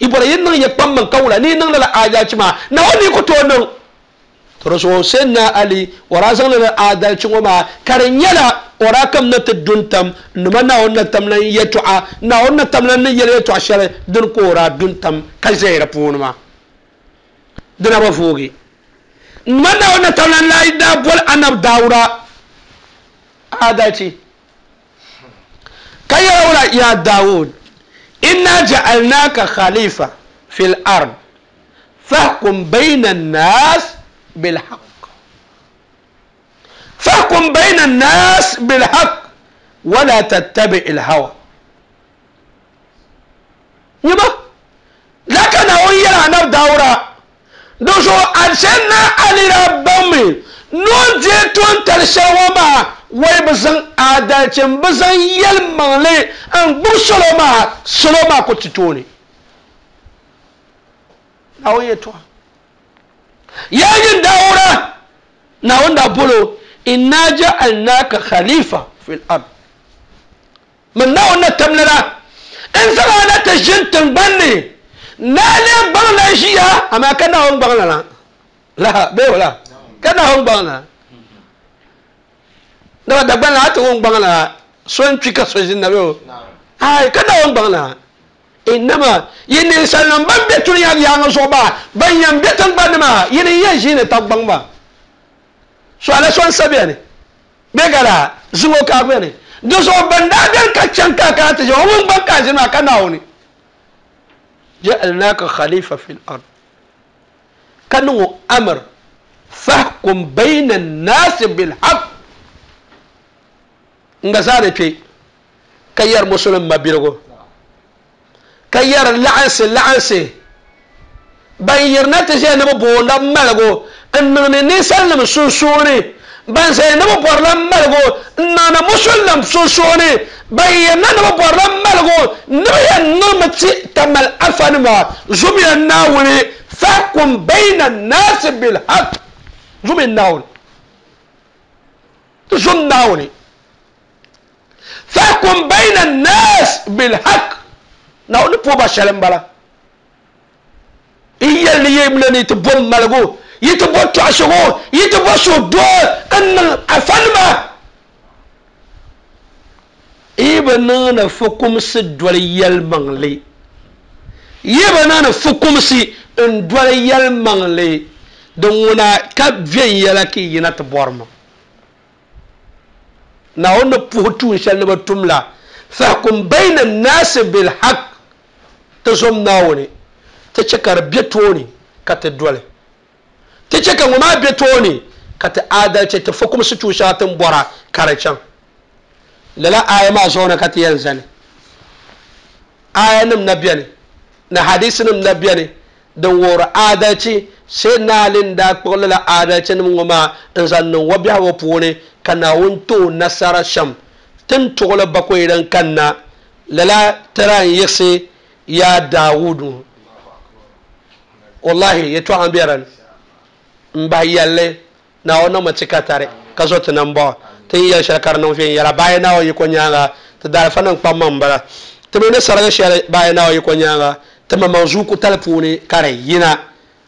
S3: i bɔra yi niŋ ya kpaŋ maŋ kawula ni yi niŋ lala adalci maa Naawuni ni ku tooi niŋ to so Sayyidina Ali o daa zaŋ lala adalci ŋɔ maa ka di nyɛla o daa kam na ti dun tam nima Naawuni na tamla n yɛltɔɣa Naawuni na tamla ni yɛli yɛltɔɣa shɛli din ka o daa dun tam ka ʒɛya di puuni maa dina bi voogi nima Naawuni na tamla n lahi daa boli Annabi Dawuda adalci ka yɛla wula ya Dawud inna ja'alnaka khalifa fil ard fahkum bayna an-nas بالحق فاحكم بين الناس بالحق ولا تتبع الهوى نبا لكن هو يلا نب دورا دوشو أرسلنا على ربهم نون جيتون تلشوا وي بزن عاداتهم بزن يلمغلي ان بوسلو ما سلو ما كنت توني هو يتوا yayin daura na wanda bolo inna ja'alnaka khalifa fil ard min na wannan tamlara in zama na ta jintin banne na ne bangla shiya amma kana hon bangla la la be wala kana hon bangla da da bangla ta hon bangla son cika so jin na be ai kana hon bangla inama yini sallam ban be tun ya ya so ba ban yan be tan ban ma yini yan shine tabban ba so ala son sabe ne be gara zuwo ka be ne do so ban da den ka can ka ka ta jo mun ban ka jima kana woni ja'alnaka khalifa fil ard kanu amr fahkum bayna an-nas bil haqq nga sare pe kayar muslim mabirgo kayyar la'ansi la'ansi ban yirna ti ʒe ni bi boonda maligu n niŋni ninsalinima sunsuuni ban zaya ni bi bɔrila maligu n niŋni musulinim sunsuuni ban yirna ni bi bɔrila maligu ni bi yɛn niŋmi ti tamal afanima zumiya Naawuni fahkum bayna an-naasi bil-haqq zumi Naawuni ti zum Naawuni fahkum bayna an-naas bil-haqq Naawuni po ba shɛli n bala i yɛli ni yɛmla ni ti bo maligu yi ti bo tɔɣisigu yi ti bo suhudoo n niŋ afanima yi bi niŋdi fukumsi doli yɛlimaŋli yi bi niŋdi fukumsi n doli yɛlimaŋli din ŋuna ka viɛnyɛla ka yi yina ti bɔrimi Naawuni ni puhi tuun shɛli ni bi tum la fahkum bayna an-naasi bil-haqq ti zom Naawuni ti chɛ ka di be tooni ka ti doli ti chɛ ka ŋɔ maa be tooni ka ti adalci ti fukumsi tuun shɛŋa ti ni bɔra ka di chaŋ lala aya maa zuɣu ni ka ti yɛn zani aya nim na beni ni hadisi nim na beni din wuhiri adalci Sayyidina Ali n daa kpuɣi lala adalci nim ŋɔ maa n zaŋ niŋ o biɛhigu puuni ka Naawuni ti o nasara shɛm tin tuɣili bakoyi din kanna lala tira n yiɣisi ya Dawudu wallahi yɛltɔɣa n bɛ dinni n bahi yɛlli Naawuni niŋmi ti ka tari ka zo ti nambɔɣu ti yi yɛli shɛli ka di niŋ viɛnyɛla baaya Naawuni yiko nyaanga ti daalifa niŋ kpaŋmaŋ n bala ti mi ni sarigi shɛli baaya Naawuni yiko nyaanga ti maŋmaŋ zuuku tali puuni ka di yina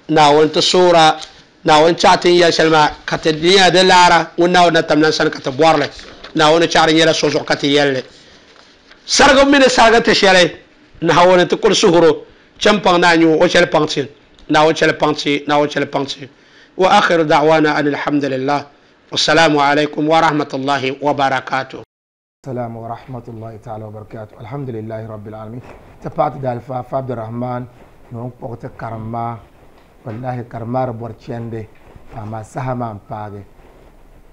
S3: Naawuni ti soora Naawuni chaɣa ti ni yɛli shɛli maa ka ti nyɛla di laara ŋun Naawuni na tamla n sani ka ti bɔrili Naawuni chaɣa di nyɛla so zuɣu ka ti yɛlli sarigi mi ni sarigi ti shɛli Naawuni ti kuli suhuro chɛn paŋ naa nyɛ o chɛli paŋ ti Naawuni chɛli paŋ ti Naawuni chɛli paŋ ti wa akhiru da'wana an alhamdulillah wassalamu alaikum wa rahmatullahi wa barakatuh.
S4: السلام ورحمة الله تعالى وبركاته. الحمد لله رب العالمين. تبعت دالفا عبد الرحمن نون قوت كرما والله كرما ربورتشاندي Amaa saha maa n-paagi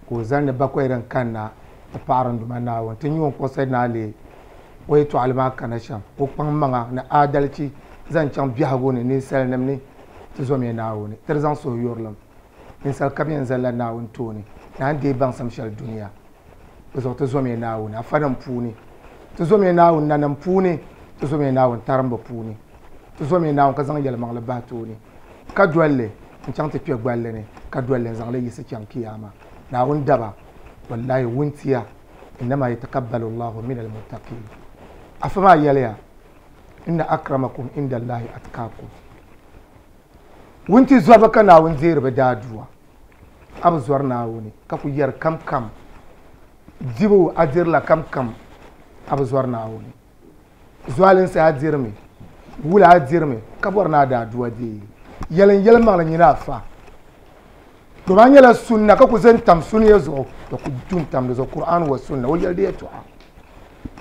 S4: ka o zali ni bakɔi din kanna ti paɣiri n Duuma Naawuni. Ti nya o ni kpuɣi Sayyidina Ali o yɛtɔɣili maa kana shɛm, o kpaŋ maŋa ni aadalichi zaŋ chaŋ biɛhigu ni ninsalinima ni ti zomiya Naawuni, ti di zaŋ suhuyurilim. Ninsal kam yɛn zalila Naawuni tooni ni a ni deei baŋsim shɛli dunia. Di zuɣu ti zomiya Naawuni afanim puuni, ti zomiya Naawuni nanim puuni, ti zomiya Naawuni tarimbu puuni, ti zomiya Naawuni ka zaŋ yɛlimaŋli bahi tooni, ka doli li n-chaŋ ti kpe gballi ni, ka doli li n-zaŋ li yiɣisi chaŋ kiyama. Naawuni daba, wallahi wuntia, innama yatakabbalu Allahu min almuttaqin. Afa maa yɛliya, inna akramakum inda Allahi atqakum. Wunti zɔriba ka Naawuni deeri bɛ daadua. A bi zɔri Naawuni ka ku yɛri kam kam. Dibu a dirila kam kam, a bi zɔri Naawuni. Zualinsi a dirimi, wula a dirimi, ka bɔri ni a daadua deei. Yɛlin yɛlimaŋli nyini afa. Domin a nyɛla sunna ka ku zani tam suniya zuɣu, to ku du n-tam di zuɣu Qur'an wa sunna, o yɛli di yɛltɔɣa.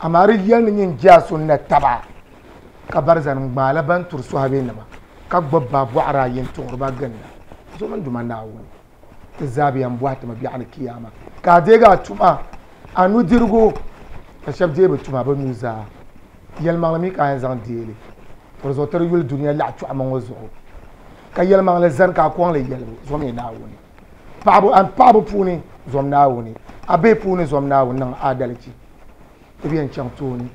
S4: Amaa di yɛli ni nyin je a sunna taba ka bari zani n-gbaala ban turi sɔhibenima ka gbubi ba bɔɣiri ayi n-tuɣiri ba ginda. Zomi n Duuma Naawuni, ti zaa bi yɛn bɔhi ti mi biɛɣu ni kiyama. Ka a deegi a tuma, a nudirigu, ka shɛba deei bɛ tuma bɛ nuu zaa. Yɛlimaŋli mi ka a yɛn zaŋ deei li. To di zuɣu ti di yuli dunia laɣ chɔɣima ŋɔ zuɣu. Ka yɛlimaŋli zani ka a kɔŋ li yɛlibu, zomi Naawuni. Paɣabu, a paɣabu puuni, zom Naawuni. A bihi puuni, zom Naawuni, niŋ aadalichi. Ti bi yɛn chaŋ tooni.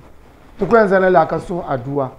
S4: Ti ku yɛn zani la ka suhi adua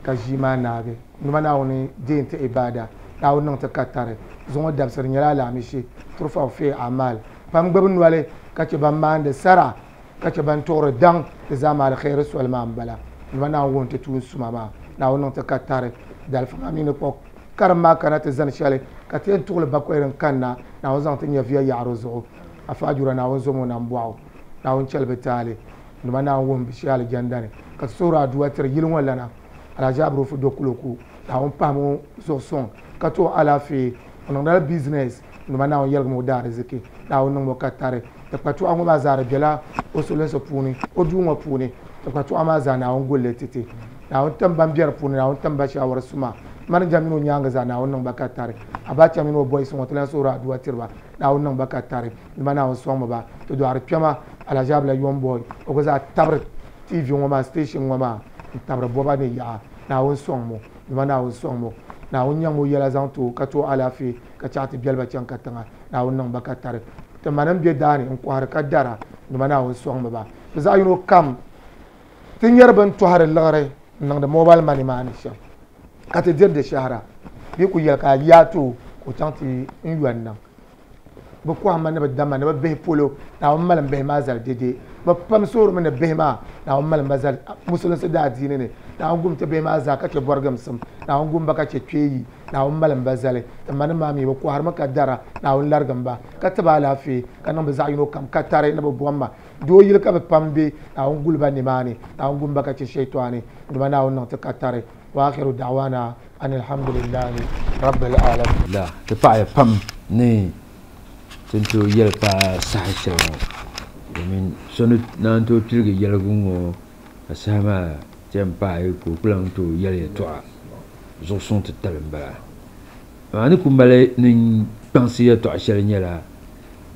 S4: ka ʒii maa naagi. Numa Naawuni deei n-ti ibaada. Naawuni niŋ ti katari. Zuŋɔ dabisili nyɛla alaamishi. Turfa fi amal. Pam gbubi noli ka che ban maandi sara, ka che ban tuɣiri daŋ, di zaa maa alkhairi soli maa m-bala. Numa Naawuni wuhi ti tuun suma maa. Naawuni niŋ ti katari. Dalifa maa mi ni kpuɣi karim maa kana ti zani shɛli ka ti yɛn tuɣili bakɔi din kanna. Naawuni zaŋ ti nyɛviya yaɣiri zuɣu. Afa Ajura Naawuni zom o nambɔɣu. Naawuni chɛli bɛ taali. Numa Naawuni wuhi bɛ shee alijanda ni. Ka ti suhuri adua tiri yili ŋɔ lana. Alhaji Abrufu Dokuloku. Naawuni pahimi o zuɣu suŋ ka ti o alaafee. O niŋdila business. Numa Naawuni yɛligimi o daa riziki. Naawuni niŋmi o katari. Ti kpa tuɣa ŋɔ maa zaa di bela o sulinsi puuni, o duu ŋɔ puuni. Ti kpa tuɣa maa zaa Naawuni gulli titi. Naawuni tim ban be di puuni, Naawuni tim ba shawara suma. Manager mini o nyaanga zaa Naawuni niŋ ba katari. Abacha mini o boys ŋɔ ti lan suhuri adua tiri ba. Naawuni niŋ ba katari. Nima Naawuni sɔŋmi ba. Ti dɔɣiri kpɛma Alhaji Abla Yomboy. O gba zaa tabiri T V ŋɔ maa, station ŋɔ maa, n-tabiri bɔba ni yaɣa. Naawuni sɔŋmi. Nima Naawuni sɔŋmi. Naawuni nyaŋ o yɛla zaŋ ti o ka ti o alaafee ka chaɣ ti biɛli ba chaŋ katiŋa. Naawuni niŋ ba katari. Ti ma nim be daani n-kɔhiri ka dara. Nima Naawuni sɔŋmi ba. Bɛ zaɣ yino kam ti nyɛri bɛn tɔhiri liɣiri n-niŋdi mobile money maa ni shɛm ka ti diri di shɛhira. Bɛ ku yɛli ka a yaa ti o ka o chaŋ ti n yɔn niŋ. Bɛ kɔhimma ni bɛ damma ni bɛ bihi polo, Naawuni malim bihi maa zali dede. Bɛ pam suurimi ni bihi maa, Naawuni malim ba zali musulinsi daadiini ni. Naawuni gum ti bihi maa zaa ka che bɔrigimsim. Naawuni gum ba ka che kpeeyi. Naawuni malim ba zali. Ti ma nim maa mi bɛ kɔhirimi ka dara. Naawuni larigim ba ka ti ba alaafee ka niŋ bɛ zaɣ yino kam ka tari ni bɛ bɔmma. Doo yili ka bɛ pam be, Naawuni guli ba nimaani. Naawuni gum ba ka che shaitani. Duma Naawuni niŋ ti ka tari. Wa akhiru da'wana an alhamdulillahi rabbil alamin.
S2: La ti paɣaya pam ni tin tooi yɛli paai saha shɛli ŋɔ, domin so ni naan tooi piligi yɛligu ŋɔ ka saha maa ti yɛn paai ka o ku lan tooi yɛli yɛltɔɣa zuɣu suŋ ti tali m-bala. Amaa ni ku mali ni kpaŋsi yɛltɔɣa shɛli nyɛla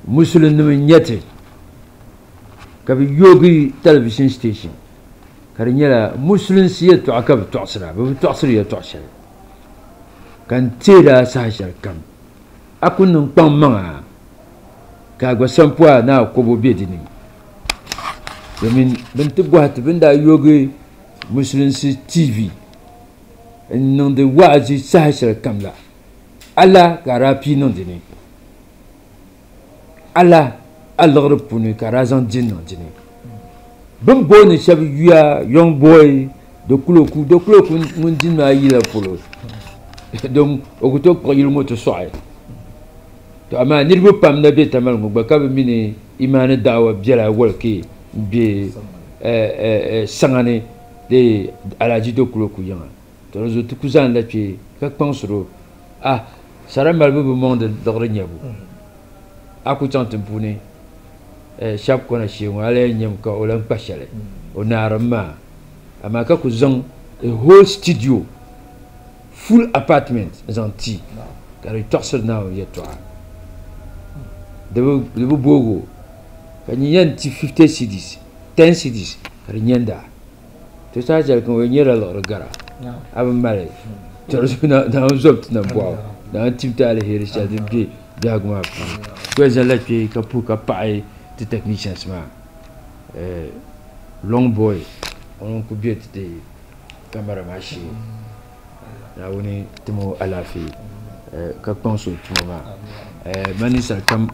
S2: musulinima n-nyɛ ti ka bɛ yoogi television station ka di nyɛla musulinsi yɛltɔɣa ka bɛ tɔɣisira, bɛ bi tɔɣisiri yɛltɔɣa shɛli ka n teera saha shɛli kam a ku niŋ kpaŋ maŋa ka a gba sampua ni a kobo be di ni, domin bɛn ti bɔhi ti bɛn daa yoogi musulinsi T V n niŋdi wa'azi saha shɛli kam la, ala ka a daa pii niŋ di ni, ala a liɣiri puuni ka a daa zaŋ di niŋ di ni. Bɛn booni shɛba yuya young boy Dokuloku, Dokuloku ŋun di maa yila polo don o ku tooi kpuɣi yili ŋɔ ti sɔɣi. To amaa niriba pam na be Tamale ŋɔ gba ka bɛ mini imaani daawa biɛla walike m-be, eh, eh, eh, saŋa ni di Alhaji Dokuloku yiŋa. To di zuɣu ti ku zaŋ la kpe ka kpaŋsiri o. Ah, sara malibu bi mɔŋdi liɣiri nyabu. A ku chaŋ tiŋpuuni, eh, shɛba kɔna shee ŋɔ, a lee nyam ka o lan kpa shɛli. O naarim maa. Amaa ka ku zaŋ a whole studio, full apartment zaŋ ti. Ka di tɔɣisiri Naawuni yɛltɔɣa. Di bi booi o. Ka nyin yɛn ti fifty cedis, ten cedis ka di nyɛnda. To saa chɛli ka o nyɛla liɣiri gara. A bi mali. To Naawuni zom ti nambɔɣu. Naawuni tim ti aliheri shɛli din be biɛhigu maa puuni. Ku yɛn zaŋla kpee ka puhi ka paɣi ti technicians maa. Long boy ŋun ku be ti ti kamara maa shee. Naawuni tim o alaafee ka kpaŋsi o tuma maa. Man ninsal kam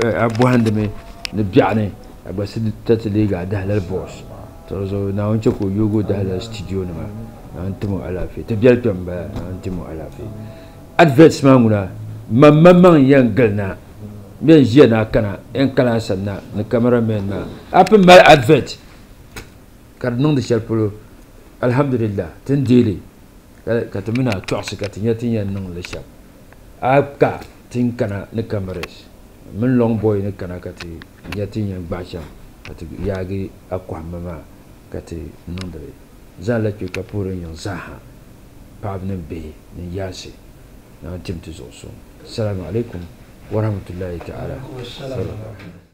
S2: a bɔhindimi ni biɛɣuni a gba si ta ti leegi a dahalali boss. To zuɣu Naawuni chɛ ka o yoogi o dahalali studio nima. Naawuni tim o alaafee. Ti biɛli kpɛm m-bala. Naawuni tim o alaafee. Adverts maa ŋuna man maŋmaŋ yɛn gili na bɛn ʒiya na kana yɛn kana a sani na ni cameraman maa a pun mali advert ka di niŋdi shɛli polo alhamdulillah ti ni deeli ka ti mini a tɔɣisi ka ti nya ti yɛn niŋ li shɛm a ka ti ni kana ni cameras mini long boy ni kana ka ti nya ti yɛn gbaai shɛm ka ti yaagi a kɔhimma maa ka ti niŋdi li zaŋla kpe ka puhiri yiŋ zaaha paɣaba ni bihi ni yaansi Naawuni tim ti zuɣu suŋ. Assalamu alaikum wa rahmatullahi ta'ala wa barakatuh.